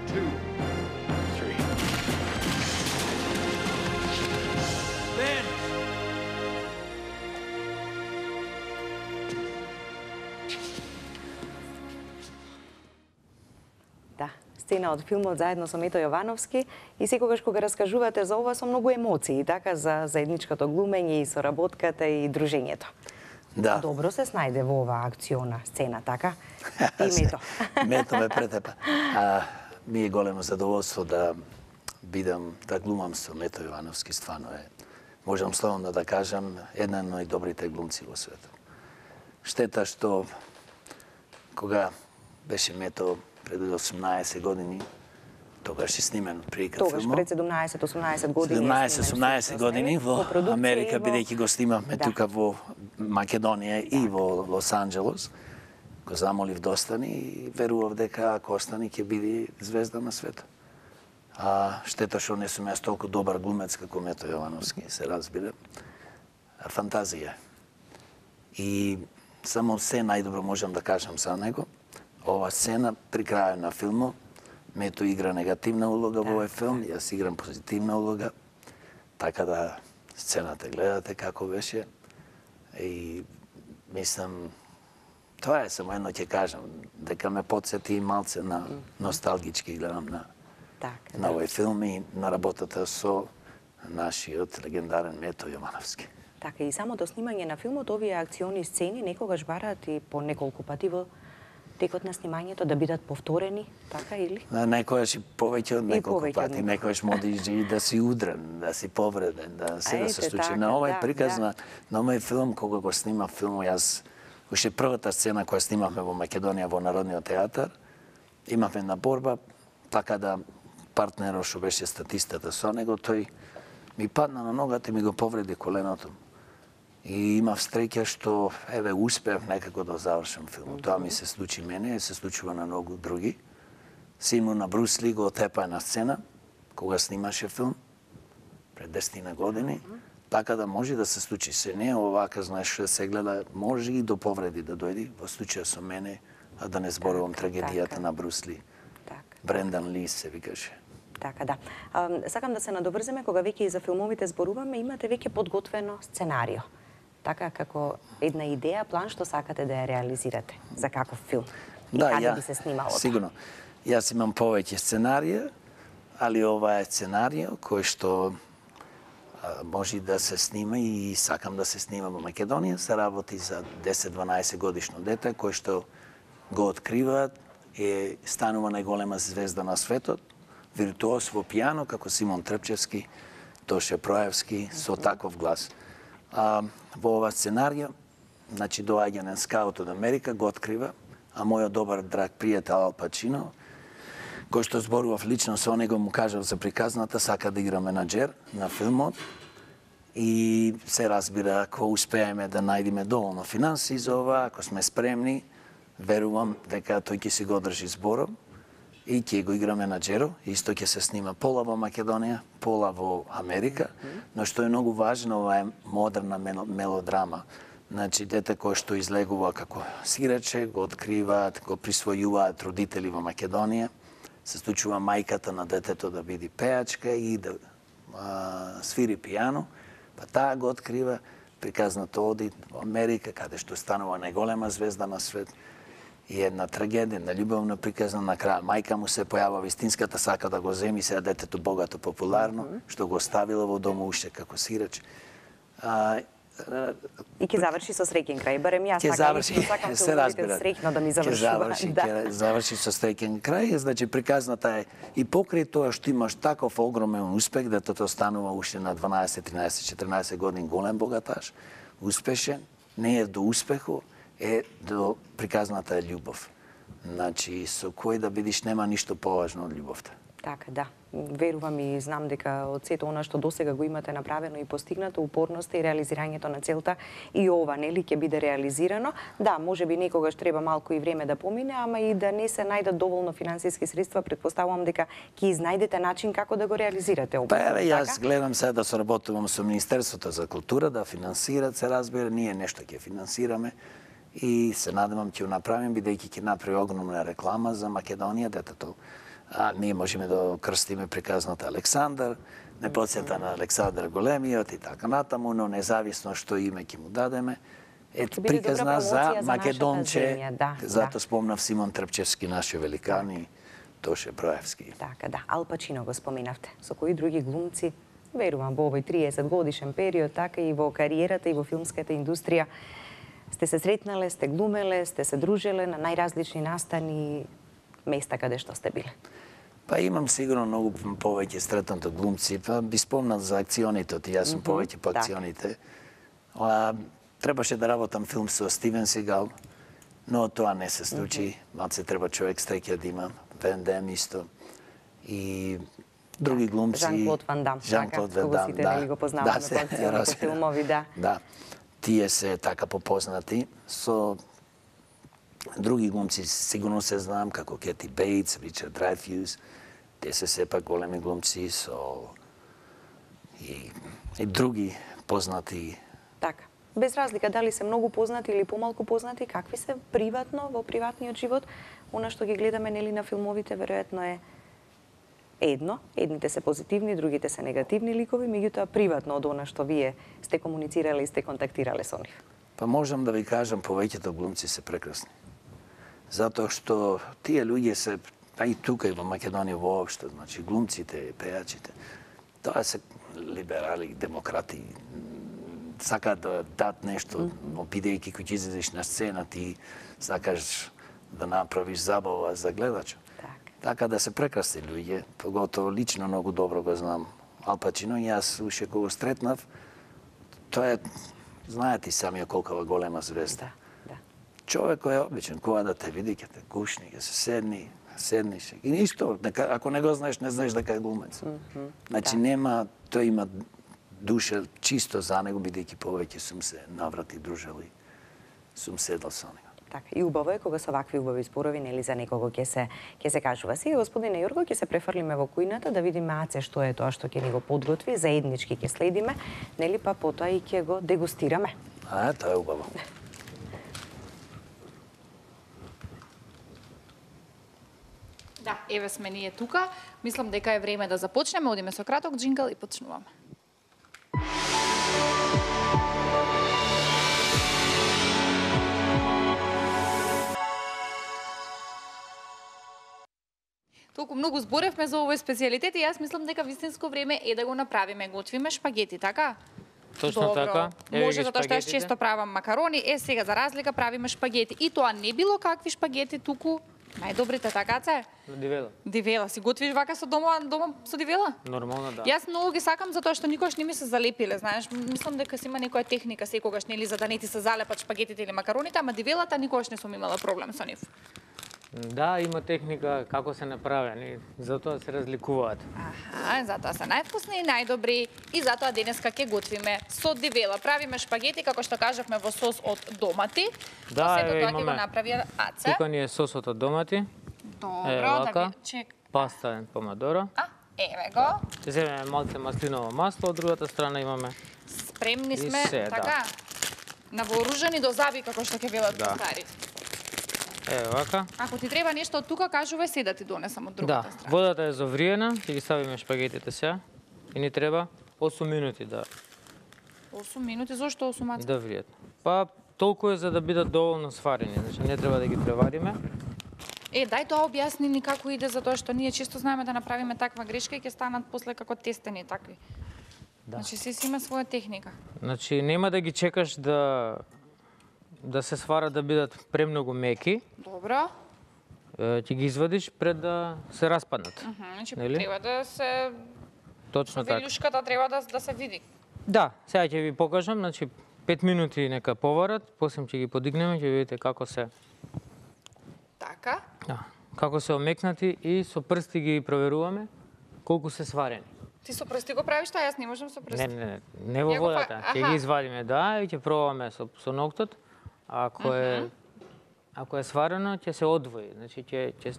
two, three. Ben! Да, сцена од филмот заедно со Мето Јовановски и секогаш кога раскажувате за ова со многу емоции, така, за заедничкото глумење и соработката и дружењето. Да. Добро се снајде во оваа акциона сцена, така? И Мето. Мето ме претепа. А, ми е големо задоволство да бидам, да глумам со Мето Јовановски, стварно е. Можам слободно да кажам, една од најдобрите глумци во светот. Штета што кога беше Мето пред осумнаесет години, тогаш е снимен прилика Тогаш филмот. пред седумнаесет-осумнаесет години. седумнаесет-осумнаесет години во продукција Америка, и во- бидејќи го снимавме Да. тука во Македонија и во Лос Анџелос. Го замолив да остани и верував дека ако остани ќе биде звезда на светот. А штета што не сум јас толку добар глумец како Мето Јовановски, се разбира. Фантазија. И само се најдобро можам да кажам за него. Ова сцена при крајот на филмот, Мето игра негативна улога во овој филм, јас играм позитивна улога. Така да сцената гледате како беше. И мислам, тоа е, само едно ќе кажам, дека ме подсети и малце на носталгички гледам на, така, на овој филм и на работата со нашиот легендарен Мето Јовановски. Така, и самото снимање на филмот, овие акциони сцени некогаш бараат и по неколку пати во текот на снимањето да бидат повторени, така или? Некојаш и повеќе од неколку повеќе од пати, некојаш може и да си удрен, да си повреден, да се да се случи. така, На овој да, приказ да. на, на овој филм, кога го снимав филмот, јас, уште првата сцена која снимавме во Македонија во Народниот театар, имавме една борба, така да партнерот што беше статистата со него, тој ми падна на ногата и ми го повреди коленото. И имав среќа што, еве, успеав некако да завршам филмот. Тоа ми се случи мене, се случува на многу други. Синот на Брус Ли го отепа на сцена, кога снимаше филм, пред десетина години, така да може да се случи. Се не овака, знаеш, да се гледа, може и до повреди да дојди, во случаја со мене, а да не зборувам Така, трагедијата така. на Брус Ли. Така. Брендан Ли се викаше. Така, да. А, сакам да се надоврземе, кога веќе и за филмовите зборуваме, имате веќе подготвено сценарио. Така, како една идеја, план што сакате да ја реализирате. За каков филм? И Да, каде ја, би се снимало? сигурно. Јас имам повеќе сценарија, али ова е сценарио кој што а, може да се снима и сакам да се снима во Македонија. Се работи за десет-дванаесет годишно дете кој што го откриваат, е станува најголема звезда на светот, виртуоз во пијано како Симон Трпчевски, Тоше Проевски, со таков глас. А, во ова сценарио, значи доаѓа на скаут од Америка, го открива, а мојот добар драг пријател Ал Пачино, кој што зборував лично со него, му кажав за приказната, сака да игра менаџер на филмот. И се разбира, ако успееме да најдеме доволно финанси за ова, ако сме спремни, верувам дека тој ќе си го одржи зборот и ќе го игра менаџеро. Исто ќе се снима пола во Македонија, пола во Америка, но што е многу важно, ова е модерна мелодрама. Значи, дете кој што излегува како сираче, го откриваат, го присвојуваат родители во Македонија, се случува мајката на детето да биде пеачка и да а, свири пијано, па таа го открива, приказната оди во Америка, каде што станува најголема звезда на свет, и една трагедија, една љубовна приказна, на крај мајка му се појава вистинската, сака да го земи, сега детето богато, популарно, mm -hmm. што го оставила во дома уште како сирач. А, И ќе заврши со среќен крај, барем јас ќе така заврши, лично сакам се филмовите разбира. среќно да ми завршува. Ќе заврши, да. ќе заврши со среќен крај, значи приказната е и покрај тоа што имаш таков огромен успех, детето станува уште на дванаесет, тринаесет, четиринаесет години голем богаташ, успешен, не е до успеху, е до приказната е љубов. Значи, со кој да бидиш нема ништо поважно од љубовта. Така, да. Верувам и знам дека од сето она што досега го имате направено и постигнато, упорноста и реализирањето на целта, и ова, нели, ќе биде реализирано. Да, може би некогаш треба малку и време да помине, ама и да не се најдат доволно финансиски средства, претпоставувам дека ќе изнајдете начин како да го реализирате ова. Па еве, јас така? гледам сега да соработувам со Министерството за култура, да финансират, се разбира, ние нешто ќе финансираме и се надевам ќе направим, бидејќи ќе направи огромна реклама за Македонија, детето. А ние можеме да крстиме приказната Александар, не подсета на Александар Големиот и така натаму, но независно што име ќе му дадеме. Ето биде добра приказна промоција за за Македонче, нашата земја, да, зато да. спомнав Симон Трпчевски, нашиот великан и Тоше Проевски. Така, да. Ал Пачино го споменавте. Со кои други глумци, верувам, во овој триесет годишен период, така и во кариерата и во филмската индустрија, сте се сретнале, сте глумеле, сте се дружеле на најразлични настани, места каде што сте биле? Па имам сигурно многу повеќе сретнато глумци, па би спомнат за акционите, оти јас сум повеќе по акционите. А, требаше да работам филм со Стивен Сигал, но тоа не се случи. Малце треба човек среќа да има, Ван Дам исто. И други глумци. Жан-Клод Ван Дам, Жан-Клод така, кого сите нели го познаваме по акциони, по филмови, да. Да, тие се така попознати. Со други глумци сигурно се знам, како Кети Бейтс, Ричард Дрейфус те се сепак големи глумци со и, и други познати. Така. Без разлика дали се многу познати или помалку познати, какви се приватно во приватниот живот, она што ги гледаме нели на филмовите веројатно е едно, едните се позитивни, другите се негативни ликови, меѓутоа приватно од она што вие сте комуницирале и сте контактирале со нив. Па можам да ви кажам, повеќето глумци се прекрасни. Затоа што тие луѓе се, а и тука и во Македонија воопшто, значи глумците, пејачите, тоа се либерали, демократи, сакаат да дадат нешто, но бидејќи кога излезеш на сцена, ти сакаш да направиш забава за гледачот. Така да се прекрасни луѓе, поготово лично многу добро го знам Ал Пачино, и јас уште кога го стретнав, тоа е, знаете и самија колкава голема звезда. Да, да. Човек кој е обичен, кога да те види, ќе те кушни, ќе се седни, седниш. И ништо, ако не го знаеш, не знаеш дека е глумец. Mm -hmm, значи да. Нема, тој има душа чисто за него, бидејќи повеќе сум се наврати дружел и сум седал со него. Така, и убаво е кога со вакви убави зборови нели за некого ќе се ќе се кажува. Сега господине Јорго ќе се префрлиме во кујната да видиме Аце што е тоа што ќе ни го подготви, заеднички ќе следиме, нели па потоа и ќе го дегустираме. А, тоа е убаво. Да, еве сме ние тука. Мислам дека е време да започнеме. Одиме со краток джингл и почнуваме. Толку многу зборевме за овој специјалитет и јас мислам дека вистинско време е да го направиме. Готвиме шпагети, така? Точно Добро. така. Еве Може ги затоа што јас шпагетите. често правам макарони, е сега за разлика правиме шпагети. И тоа не било какви шпагети, туку најдобрите, така це? Дивела. Дивела, си готвиш вака со дома, дома со дивела? Нормално да. Јас многу ги сакам затоа што никогаш не ми се залепиле, знаеш, мислам дека си има некоја техника секогаш нели за да не ти се залепат шпагетите или макароните, ама дивелата никогаш не сум имала проблем со нив. Да, има техника како се направени, затоа се разликуваат. Аха, затоа се највкусни и најдобри и затоа денеска ќе готвиме со дивела. Правиме шпагети како што кажавме во сос од домати. Да, сето еве тоа ќе го имаме. направи Аце. Тука ни е сосот од домати, Добро, е, да вака. ви чек. паста е помадоро. А, еве го. Ќе земеме малце маслиново масло, од другата страна имаме. Спремни И сме, се, да. така. Навооружени до заби како што ќе велат Да. старите. Еве вака. Ако ти треба нешто од тука, кажувај се да ти донесам од Да, другата страна. водата е завриена, ќе ги ставиме шпагетите сега. И ни треба осум минути да осум минути, зошто осум маца? да вријат. Па толку е за да бидат доволно сварени, значи не треба да ги превариме. Е, дај тоа објасни ни како иде, затоа што ние често знаеме да направиме таква грешка и ќе станат после како тестени такви. Да. Значи си си има своја техника. Значи нема да ги чекаш да да се сварат да бидат премногу меки. Добро. Е, ќе ги извадиш пред да се распаднат. Мгм, значи Нели? треба да се Точно така. велюшката треба да да се види. Да, сега ќе ви покажам, значи пет минути нека поварат, после ќе ги подигнеме, ќе видите како се Така. да, како се омекнати и со прсти ги проверуваме колку се сварени. Ти со прсти го правиш тоа, јас не можам со прсти. Не, не, не, не во Ја го фа- водата, ќе аха. ги извадиме, да, и ќе пробаме со со ноктот. Ако е ако е сварено, ќе се одвои, значи ќе ќе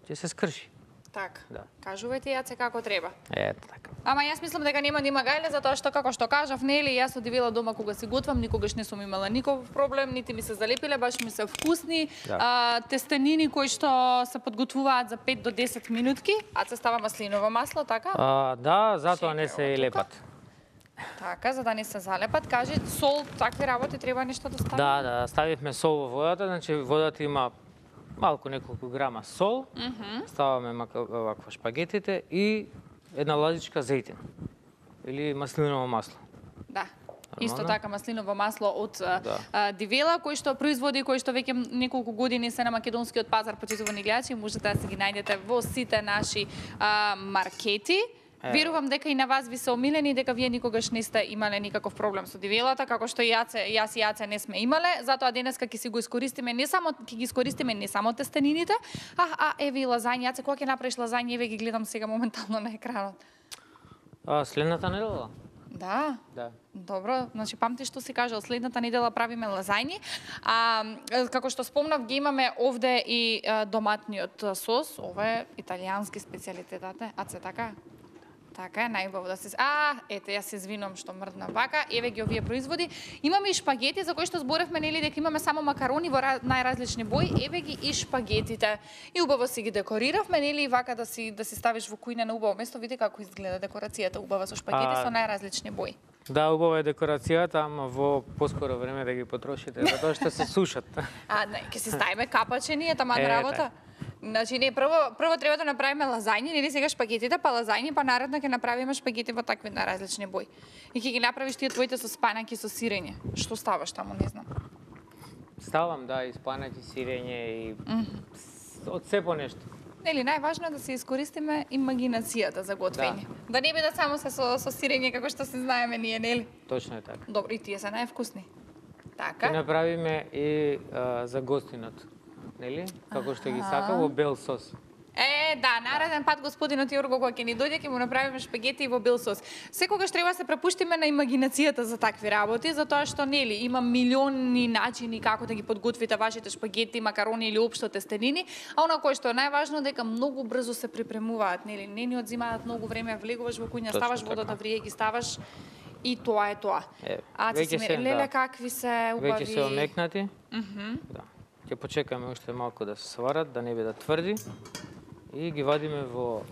ќе се скрши. Така. Да. Кажувајте Јаце како треба. Ето така. Ама јас мислам дека нема да има гајле, затоа што како што кажав, нели, јас одивела дома кога си готвам, никогаш не сум имала никаков проблем, нити ми се залепиле, баш ми се вкусни. Да. А, тестенини кои што се подготвуваат за пет до десет минутки, а се става маслиново масло, така? А, да, затоа не се Шеќер, лепат. Така, за да не се залепат, кажи, сол, такви работи треба нешто да стави? Да, да, ставивме сол во водата, значи водата има малку неколку грама сол, ставаме мака, ваква шпагетите и една лазичка зејтин или маслиново масло. Да. Исто Нормално. така маслиново масло од Да. а, Дивела, кој што производи, кој што веќе неколку години се на македонскиот пазар, почитувани гледачи, можете да се ги најдете во сите наши а, маркети. Е. Верувам дека и на вас ви се омилени, дека вие никогаш не сте имале никаков проблем со дивелата, како што и јаце, јас и Јаце не сме имале, затоа денеска ќе си го искористиме не само ќе ги искористиме не само тестенините, а а еве и лазања. Јаце, кога ќе направиш лазања, еве ги гледам сега моментално на екранот. А следната недела? Да. Да. Добро, значи памти што си кажал, следната недела правиме лазајни. А како што спомнав, ги имаме овде и а, доматниот сос, ова е италијански специјалитет, а се така? Така е, најубаво да се... А, ете, јас се извинувам што мрдна вака. Еве ги овие производи. Имаме и шпагети, за кои што зборевме, нели, дека имаме само макарони во најразлични бои. Еве ги и шпагетите. И убаво си ги декориравме, нели, и вака да си да си ставиш во кујна на убаво место. Види како изгледа декорацијата убава со шпагети А... со најразлични бои. Да, убава е декорацијата, ама во поскоро време да ги потрошите, затоа што се сушат. А, не, ќе си ставиме капаче ние таман Е, работа. Значи, не, прво, прво треба да направиме лазајни, нели сега шпагетите, па лазајни, па наредно ќе направиме шпагети во такви на различни бои. И ќе ги направиш тие твоите со спанаки со сирење. Што ставаш таму, не знам. Ставам, да, и спанаки, сирење и mm -hmm. од се по нешто. Нели, најважно е да се искористиме имагинацијата за готвење. Да, да не биде само се со, со сирење како што се знаеме ние, нели? Точно е така. Добро, и тие се највкусни. Така. Ќе направиме и а, за гостинот, нели? Како што ги сака во бел сос. Е, да, нареден пат господинот Јорго кога ќе ни дојде ќе му направиме шпагети во бел сос. Секогаш треба да се препуштиме на имагинацијата за такви работи, затоа што нели има милиони начини како да ги подготвите вашите шпагети, макарони или општо тестенини, а она кое што е најважно дека многу брзо се припремуваат, нели, не ни одзимаат многу време, влегуваш во кујна, ставаш водата да врие, ги ставаш и тоа е тоа. Е, а ти си се, леле да. какви се убави. Веќе се омекнати. Мгм. Да. Ќе почекаме уште малку да се сварат, да не бидат тврди. И ги вадиме во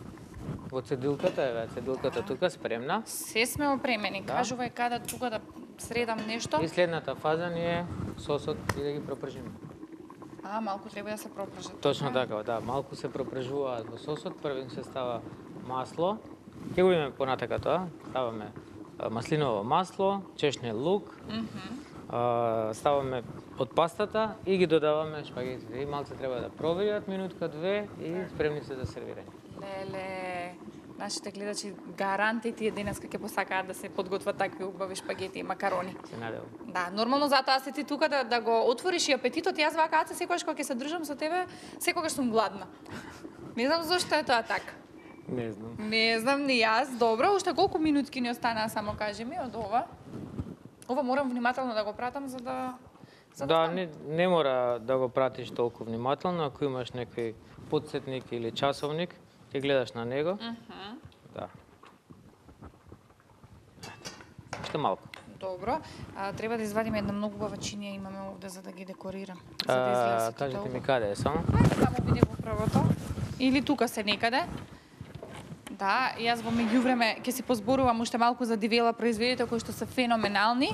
во цедилката, еве цедилката тука спремна. Се сме опремени. Да. Кажувај каде тука да средам нешто. И следната фаза ни е сосот и да ги пропржиме. А, малку треба да се пропржат. Точно така, да, малку се пропржуваат во сосот, првен се става масло. Ќе го имаме понатака тоа, ставаме а, маслиново масло, чешне лук. Мгм. а, ставаме од пастата и ги додаваме шпагетите. И малце треба да провијат минутка две и спремни се за сервирање. Леле, нашите гледачи гаранти тие денеска ќе посакаат да се подготват такви убави шпагети и макарони. Се надевам. Да, нормално затоа си ти тука да, да го отвориш и апетитот. Јас вака аце секогаш кога ќе се држам со тебе, секогаш сум гладна. Не знам зошто е тоа така. Не знам. Не знам ни јас. Добро, уште колку минутки ни останаа, само кажи ми од ова. Ова морам внимателно да го пратам за да за Да, знам. не, не мора да го пратиш толку внимателно, ако имаш некој подсетник или часовник, ќе гледаш на него. Мгм. Да. Уште малку. Добро. А, треба да извадиме една многу убава чинија имаме овде за да ги декорирам. За да А, изгледа сето кажете тоа ми убаво. каде е само? Ајде таму биде во првото. Или тука се некаде. Да, јас во меѓувреме ќе си позборувам уште малку за дивела производите кои што се феноменални.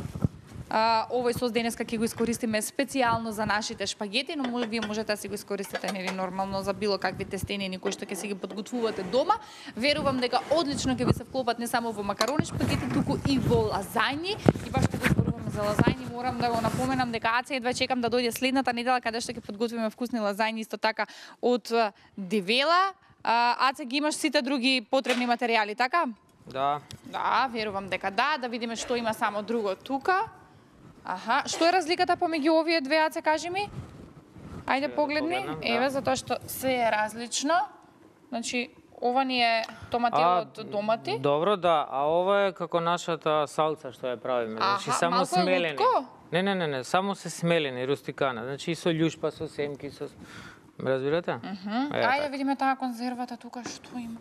А, овој сос денеска ќе го искористиме специјално за нашите шпагети, но може, вие можете да си го искористите нели нормално за било какви тестенини кои што ќе си ги подготвувате дома. Верувам дека одлично ќе ви се вклопат не само во макарони шпагети, туку и во лазајни. И баш што го зборуваме за лазајни, морам да го напоменам дека Аце едва чекам да дојде следната недела каде што ќе подготвиме вкусни лазајни исто така од дивела. А, Аце ги имаш сите други потребни материјали, така? Да. Да, верувам дека да, да видиме што има само друго тука. Аха, што е разликата помеѓу овие две, Аце, кажи ми? Ајде да погледни. погледнам, да. Еве, затоа што се е различно. Значи, ова ни е томател од домати. Добро, да, а ова е како нашата салца што ја правиме. Значи Аха, само малку е смелени. лутко? Не, не, не, не, само се смелени, рустикана. Значи и со љушпа, со семки, со ме разбирате? Мгм. Е, Ајде така. видиме таа конзервата тука што има.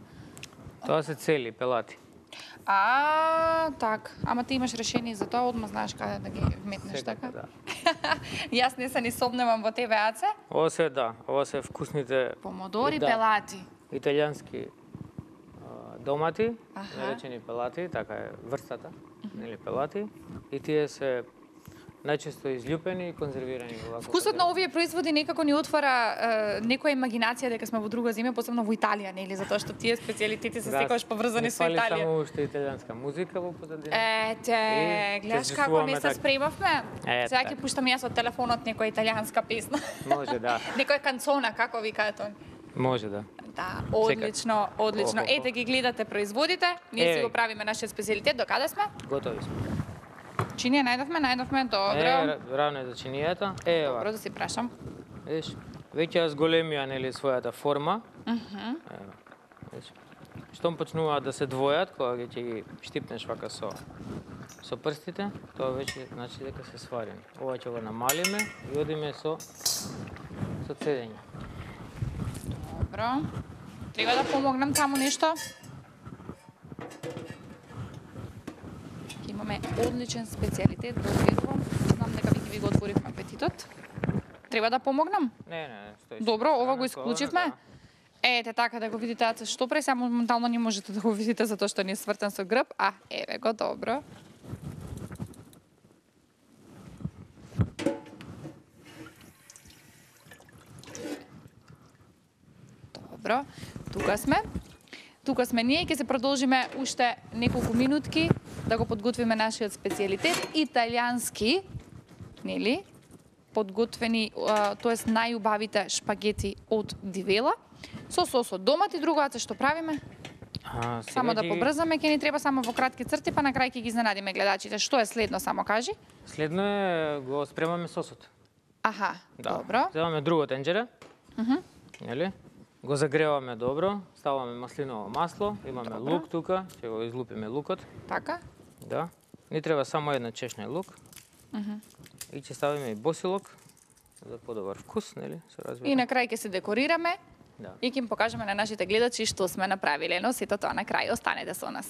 Тоа се цели пелати. А, так. Ама ти имаш решение за тоа, одма знаеш каде да ги вметнеш, Секако, така? да. Јас не се ни собневам во тебе, Аце. Ова се, да, ова се вкусните Помодори, Да. пелати. италијански а, домати, Аха. наречени пелати, така е врстата, нели пелати. И тие се најчесто изљупени и конзервирани во ваква Вкусот на содржина. овие производи некако ни отвара е, некоја имагинација дека сме во друга земја, посебно во Италија, нели, затоа што тие специјалитети се секогаш поврзани не со фали Италија. само уште италијанска музика во позадина. Ете, И гледаш ќе како не чувствуваме се така. спремавме? Е, Сега така. ќе пуштам јас од телефонот некоја италијанска песна. Може, да. Некоја канцона, како викаат они. Може, да. Да, одлично, одлично. Охо, охо. Ете ги гледате производите, ние си Е. го правиме нашиот специјалитет, до каде сме? Готови сме. Чинија најдовме, најдовме, Е, добро. ра- равно е за чинијата. Е, Добро ова. да си прашам. Видиш, веќе ја зголемија нели својата форма. Мгм. Ево. Видиш. Штом почнуваат да се двојат, кога ќе ги штипнеш вака со со прстите, тоа веќе значи дека се сварени. Ова ќе го намалиме и одиме со со цедење. Добро. Треба да помогнам таму нешто? Имаме одличен специјалитет, го верувам. Знам дека веќе ви го отворивме апетитот. Треба да помогнам? Не, не, не, стои. Добро, ова го исклучивме. Ете така да го видите, аце што пре, сега моментално не можете да го видите затоа што не е свртен со грб, а еве го, добро. Добро, тука сме. Тука сме ние, ќе се продолжиме уште неколку минутки да го подготвиме нашиот специјалитет, италијански, нели? Подготвени, тоест најубавите шпагети од Дивела, со сос од домат и друго, аце што правиме? А, Само да ги... побрзаме, ќе ни треба само во кратки црти, па на крај ќе ги изненадиме гледачите. Што е следно, само кажи? Следно е го спремаме сосот. Аха, Да. добро. Земаме друго тенџере. Мгм. Нели? Го загреваме добро, ставаме маслиново масло, имаме Добро. лук тука, ќе го излупиме лукот. Така? Да. Ни треба само една чешна лук. Мгм. И ќе ставиме и босилок за подобар вкус, нели? Се разбира. И на крај ќе се декорираме Да. и ќе им покажеме на нашите гледачи што сме направиле, но сето тоа на крај. Останете со нас.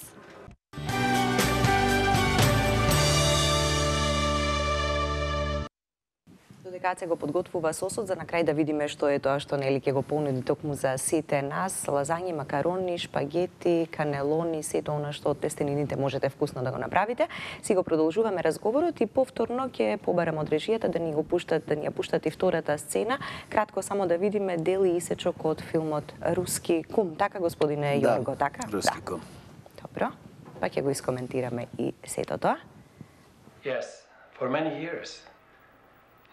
Додека се го подготвува сосот, за на крај да видиме што е тоа што нели ќе го понуди токму за сите нас, лазањи, макарони, шпагети, канелони, сето она што од тестенините можете вкусно да го направите. Си го продолжуваме разговорот и повторно ќе побарам од режијата да ни го пуштат, да ни ја пуштат и втората сцена. Кратко само да видиме дел и исечок од филмот Руски кум. Така, господине Да, Јорго, така? Руски Да. кум. Добро. Па ќе го искоментираме и сето тоа. Yes, for many years.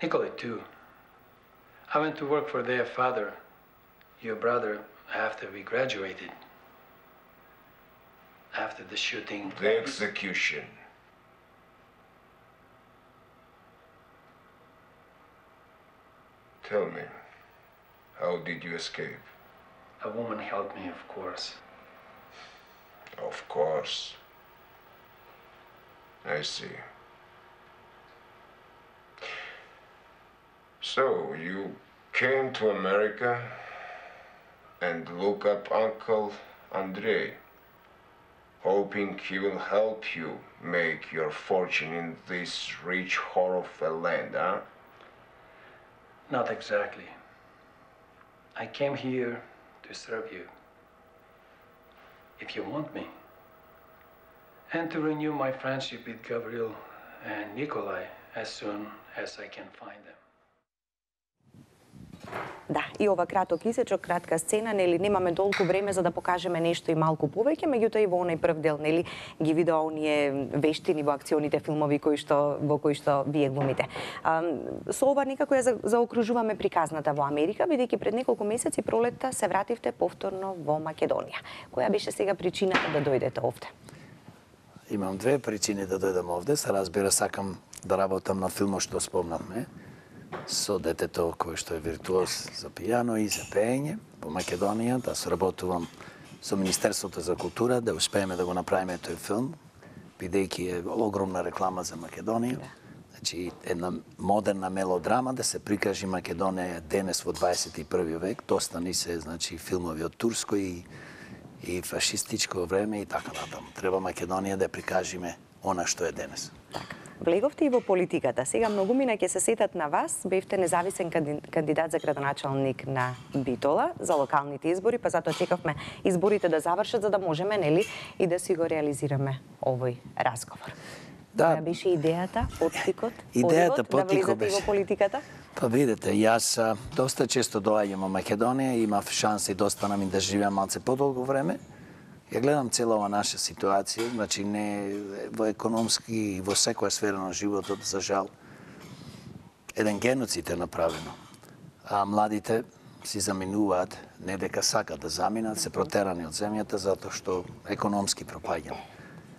Nikolai, too. I went to work for their father, your brother, after we graduated. After the shooting. The execution. Tell me, how did you escape? A woman helped me, of course. Of course. I see. So, you came to America and look up Uncle Andrei, hoping he will help you make your fortune in this rich whore of a land, huh? Not exactly. I came here to serve you, if you want me, and to renew my friendship with Gabriel and Nikolai as soon as I can find them. Да, и ова краток исечок, кратка сцена, нели немаме толку време за да покажеме нешто и малку повеќе, меѓутоа и во онај прв дел, нели, ги видоа оние вештини во акционите филмови кои што во кои што вие глумите. А, со ова некако ја заокружуваме приказната во Америка, бидејќи пред неколку месеци пролетта се вративте повторно во Македонија. Која беше сега причината да дојдете овде? Имам две причини да дојдам овде. Се разбира, сакам да работам на филмот што спомнавме, со детето кој што е виртуоз за пијано и за пеење во Македонија, да соработувам со Министерството за култура, да успееме да го направиме тој филм, бидејќи е огромна реклама за Македонија. Значи, една модерна мелодрама да се прикажи Македонија денес во дваесет и први век. Доста ни се, значи, филмови од турско и и фашистичко време и така натаму. Треба Македонија да прикажиме она што е денес. Така. Влеговте и во политиката. Сега многумина ќе се сетат на вас. Бевте независен кандидат за градоначалник на Битола за локалните избори, па затоа чекавме изборите да завршат за да можеме, нели, и да си го реализираме овој разговор. Да. Која беше идејата, поттикот, Идејата, подивот, да поттикот влезете беше во политиката? Па видете, јас а, доста често доаѓам во Македонија, имав шанси да останам и да живеам малце подолго време. Ја гледам цела ова наша ситуација, значи не во економски и во секоја сфера на животот, за жал, еден геноцид е направено. А младите си заминуваат, не дека сакат да заминат, се протерани од земјата затоа што економски пропаѓаме.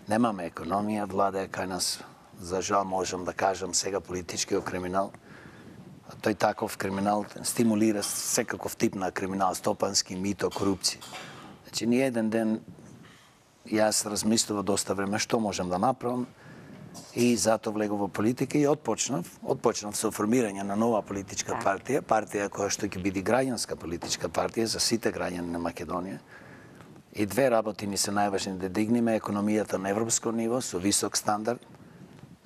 Немаме економија, влада е кај нас, за жал можам да кажам сега политичкиот криминал. Тој таков криминал стимулира секаков тип на криминал, стопански, мито, корупција. Значи, ни еден ден јас размислував доста време што можам да направам и затоа влегов во политика и отпочнав, отпочнав со формирање на нова политичка партија, партија која што ќе биде граѓанска политичка партија за сите граѓани на Македонија. И две работи ни се најважни да дигнеме економијата на европско ниво со висок стандард.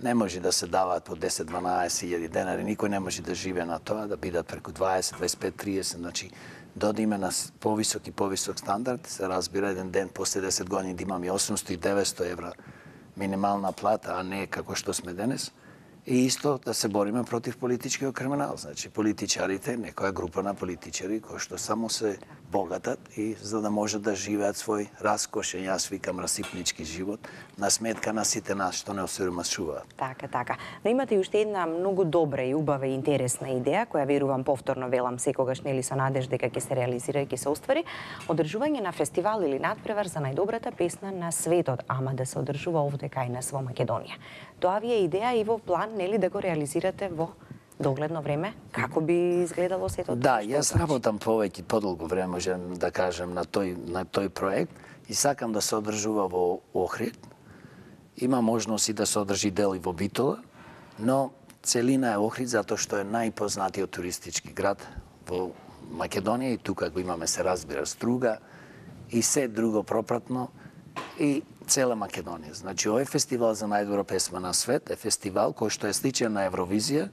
Не може да се даваат по десет-дванаесет илјади денари, никој не може да живее на тоа, да бидат преку дваесет, дваесет и пет, триесет, значи да одиме на повисок и повисок стандард, се разбира еден ден после десет години да имаме осумсто и деветсто евра минимална плата, а не како што сме денес. И исто да се бориме против политичкиот криминал. Значи, политичарите, некоја група на политичари кои што само се богатат и за да можат да живеат свој раскошен, јас викам расипнички живот, на сметка на сите нас што не осиромашуваат. Така, така. Но имате и уште една многу добра и убава и интересна идеја, која верувам повторно велам секогаш нели со надеж дека ќе се реализира и ќе се оствари, одржување на фестивал или надпревар за најдобрата песна на светот, ама да се одржува овде кај нас во Македонија. Тоа ви е идеја и во план нели да го реализирате во догледно време? Како би изгледало сето тоа? Да, јас работам повеќе подолго време, можем да кажем, на тој на тој проект и сакам да се одржува во Охрид. Има можност и да се одржи дел и во Битола, но целина е Охрид затоа што е најпознатиот туристички град во Македонија и тука го имаме, се разбира, Струга и се друго пропратно и цела Македонија. Значи, овој фестивал за најдобра песма на свет е фестивал кој што е сличен на Евровизија,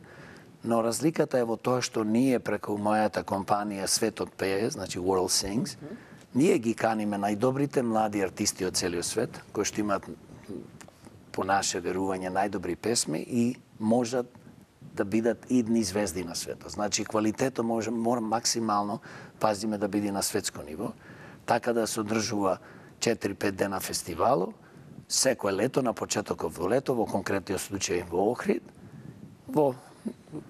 но разликата е во тоа што ние преку мојата компанија Светот пее, значи World Sings, ние ги каниме најдобрите млади артисти од целиот свет, кои што имаат по наше верување најдобри песми и можат да бидат идни звезди на светот. Значи, квалитетот може, мора максимално пазиме да биде на светско ниво, така да се одржува четири-пет дена фестивалу, секој лето, на почетокот во лето, во конкретниот случај во Охрид. Во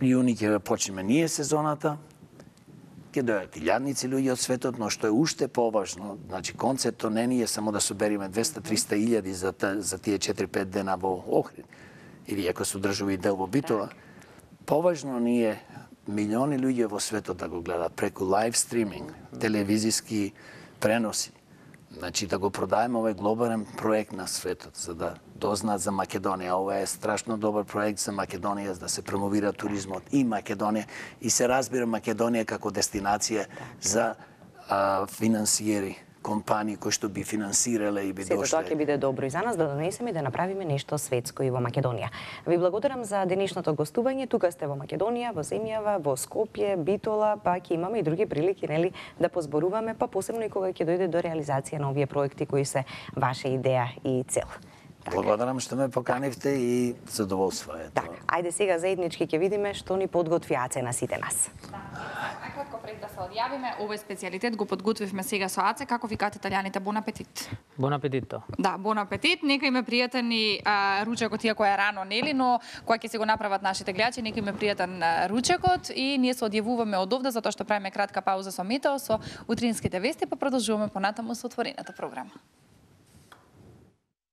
јуни ќе почнеме ние сезоната, ќе дојдат илјадници луѓе од светот, но што е уште поважно, значи концептот не ни е само да собериме двеста-триста илјади за, за тие четири-пет дена во Охрид, или ако се одржува и дел во Битола, поважно ни е милиони луѓе во светот да го гледат преку лайв стриминг, телевизиски преноси. Значи да го продадеме овој глобален проект на светот, за да дознаат за Македонија. Ова е страшно добар проект за Македонија, за да се промовира туризмот и Македонија и се разбира Македонија како дестинација за а, финансиери, компании кои што би финансирале и би дошле. Сето тоа ќе биде добро и за нас да донесеме и да направиме нешто светско и во Македонија. Ви благодарам за денешното гостување. Тука сте во Македонија, во земјава, во Скопје, Битола, па ќе имаме и други прилики, нели, да позборуваме, па посебно и кога ќе дојде до реализација на овие проекти кои се ваша идеја и цел. Така. Благодарам што ме поканивте и задоволство е тоа. Така, ајде сега заеднички ќе видиме што ни подготви Аце на сите нас. Кратко пред да се одјавиме, овој специјалитет го подготвивме сега со Аце. Како викаат италијаните? Бон апетит. Бон апетито. Да, бон апетит. Нека им е пријатен и а, ручекот, иако е рано, нели, но кога ќе се го направат нашите гледачи, нека им е пријатен а, ручекот и ние се одјавуваме од овде затоа што правиме кратка пауза со метео, со утринските вести, па продолжуваме понатаму со отворената програма.